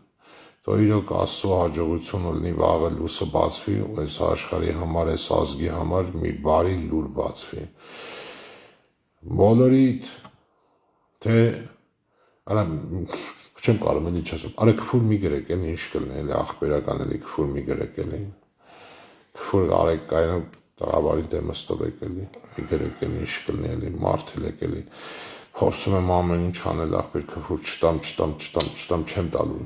թող իրոք Աստծո հաջողությունը լինի, վաղը լույսը բացվի ու այս աշխարհի համար, այս ազգի համար մի բարի լուր բացվի։ Բոլորիդ, թե արա չեմ կարող էլի չասեմ, արա քֆուր մի գրեք, էլի ինչ կլինի, էլի ախպերական էլի քֆուր մի գրեք էլի։ Քֆուր արեք կայանում տղավարի դեմը ստվեք էլի, մի գրեք էլի ինչ կլինի էլի, մարդելեք էլի։ Փորձում եմ ամեն ինչ անել ախպեր քֆուր չտամ, չեմ տալու։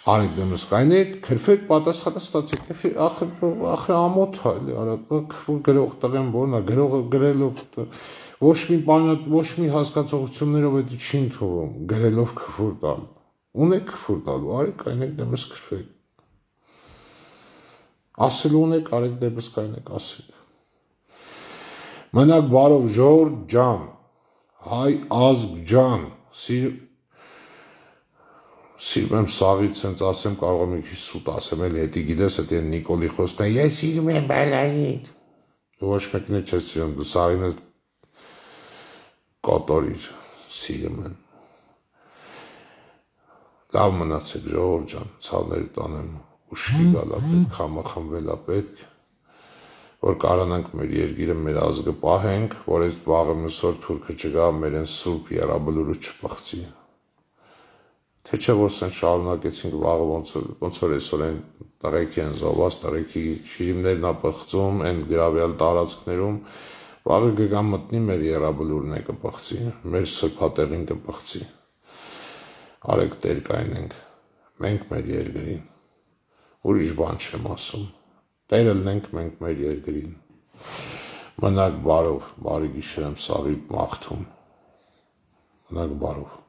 Արեք դեմս կայնեք, քրֆեք, պատասխանը ստացեք, ախր ամոթ է էլի, արա քֆուր գրող տղեն որն է, գրողը գրելով ոչ մի հասկացողություններով էդի չի ընդունում, գրելով քֆուր տալ, ունեք քֆուր տալու, արեք կայնեք դեմս քրֆեք, ասելու ունեք, արեք դեմս կայնեք, ասեք, մնաք բարով ժողովուրդ ջան, հայ ազգ ջան, սիրում եմ սաղից սենց ասեմ, կարող եմ մի քիչ սուտ ասեմ, էլի հետի գիտես, էդի Նիկոլի խոսքն է, ես սիրում եմ բալային, ոչ մեկին է չես սիրում, դու սաղին ես կոտորիր, սիրում եմ, լավ մնացեք ժողովուրդ ջան, ցավների տանեմ, ուշքի գալա պետք, համախմբելա պետք, որ կարողանանք մեր երկիրը, մեր ազգը պահենք, որ այս վաղը մյուսօր թուրքը չգա, մեր են սուրբ եռաբլուրը չփախցի։ Թե չէ որ սեն շարունակեցինք վաղը ոնց որ այսօր են տղեկի են զոհված, տղեկի շիրիմներն ապխծում, են գրավյալ տարածքներում, վաղը կգա մտնի մեր եռաբլուրն է կփախցի, մեր սրբատեղին կփախցի։ Արեք տեր կայնենք, մենք մեր երկրին, ուրիշ բան չեմ ասում, տերը լինենք մենք մեր երկրին, մնաք բարով, բարի գիշեր եմ սաղի մաղթում, մնաք բարով։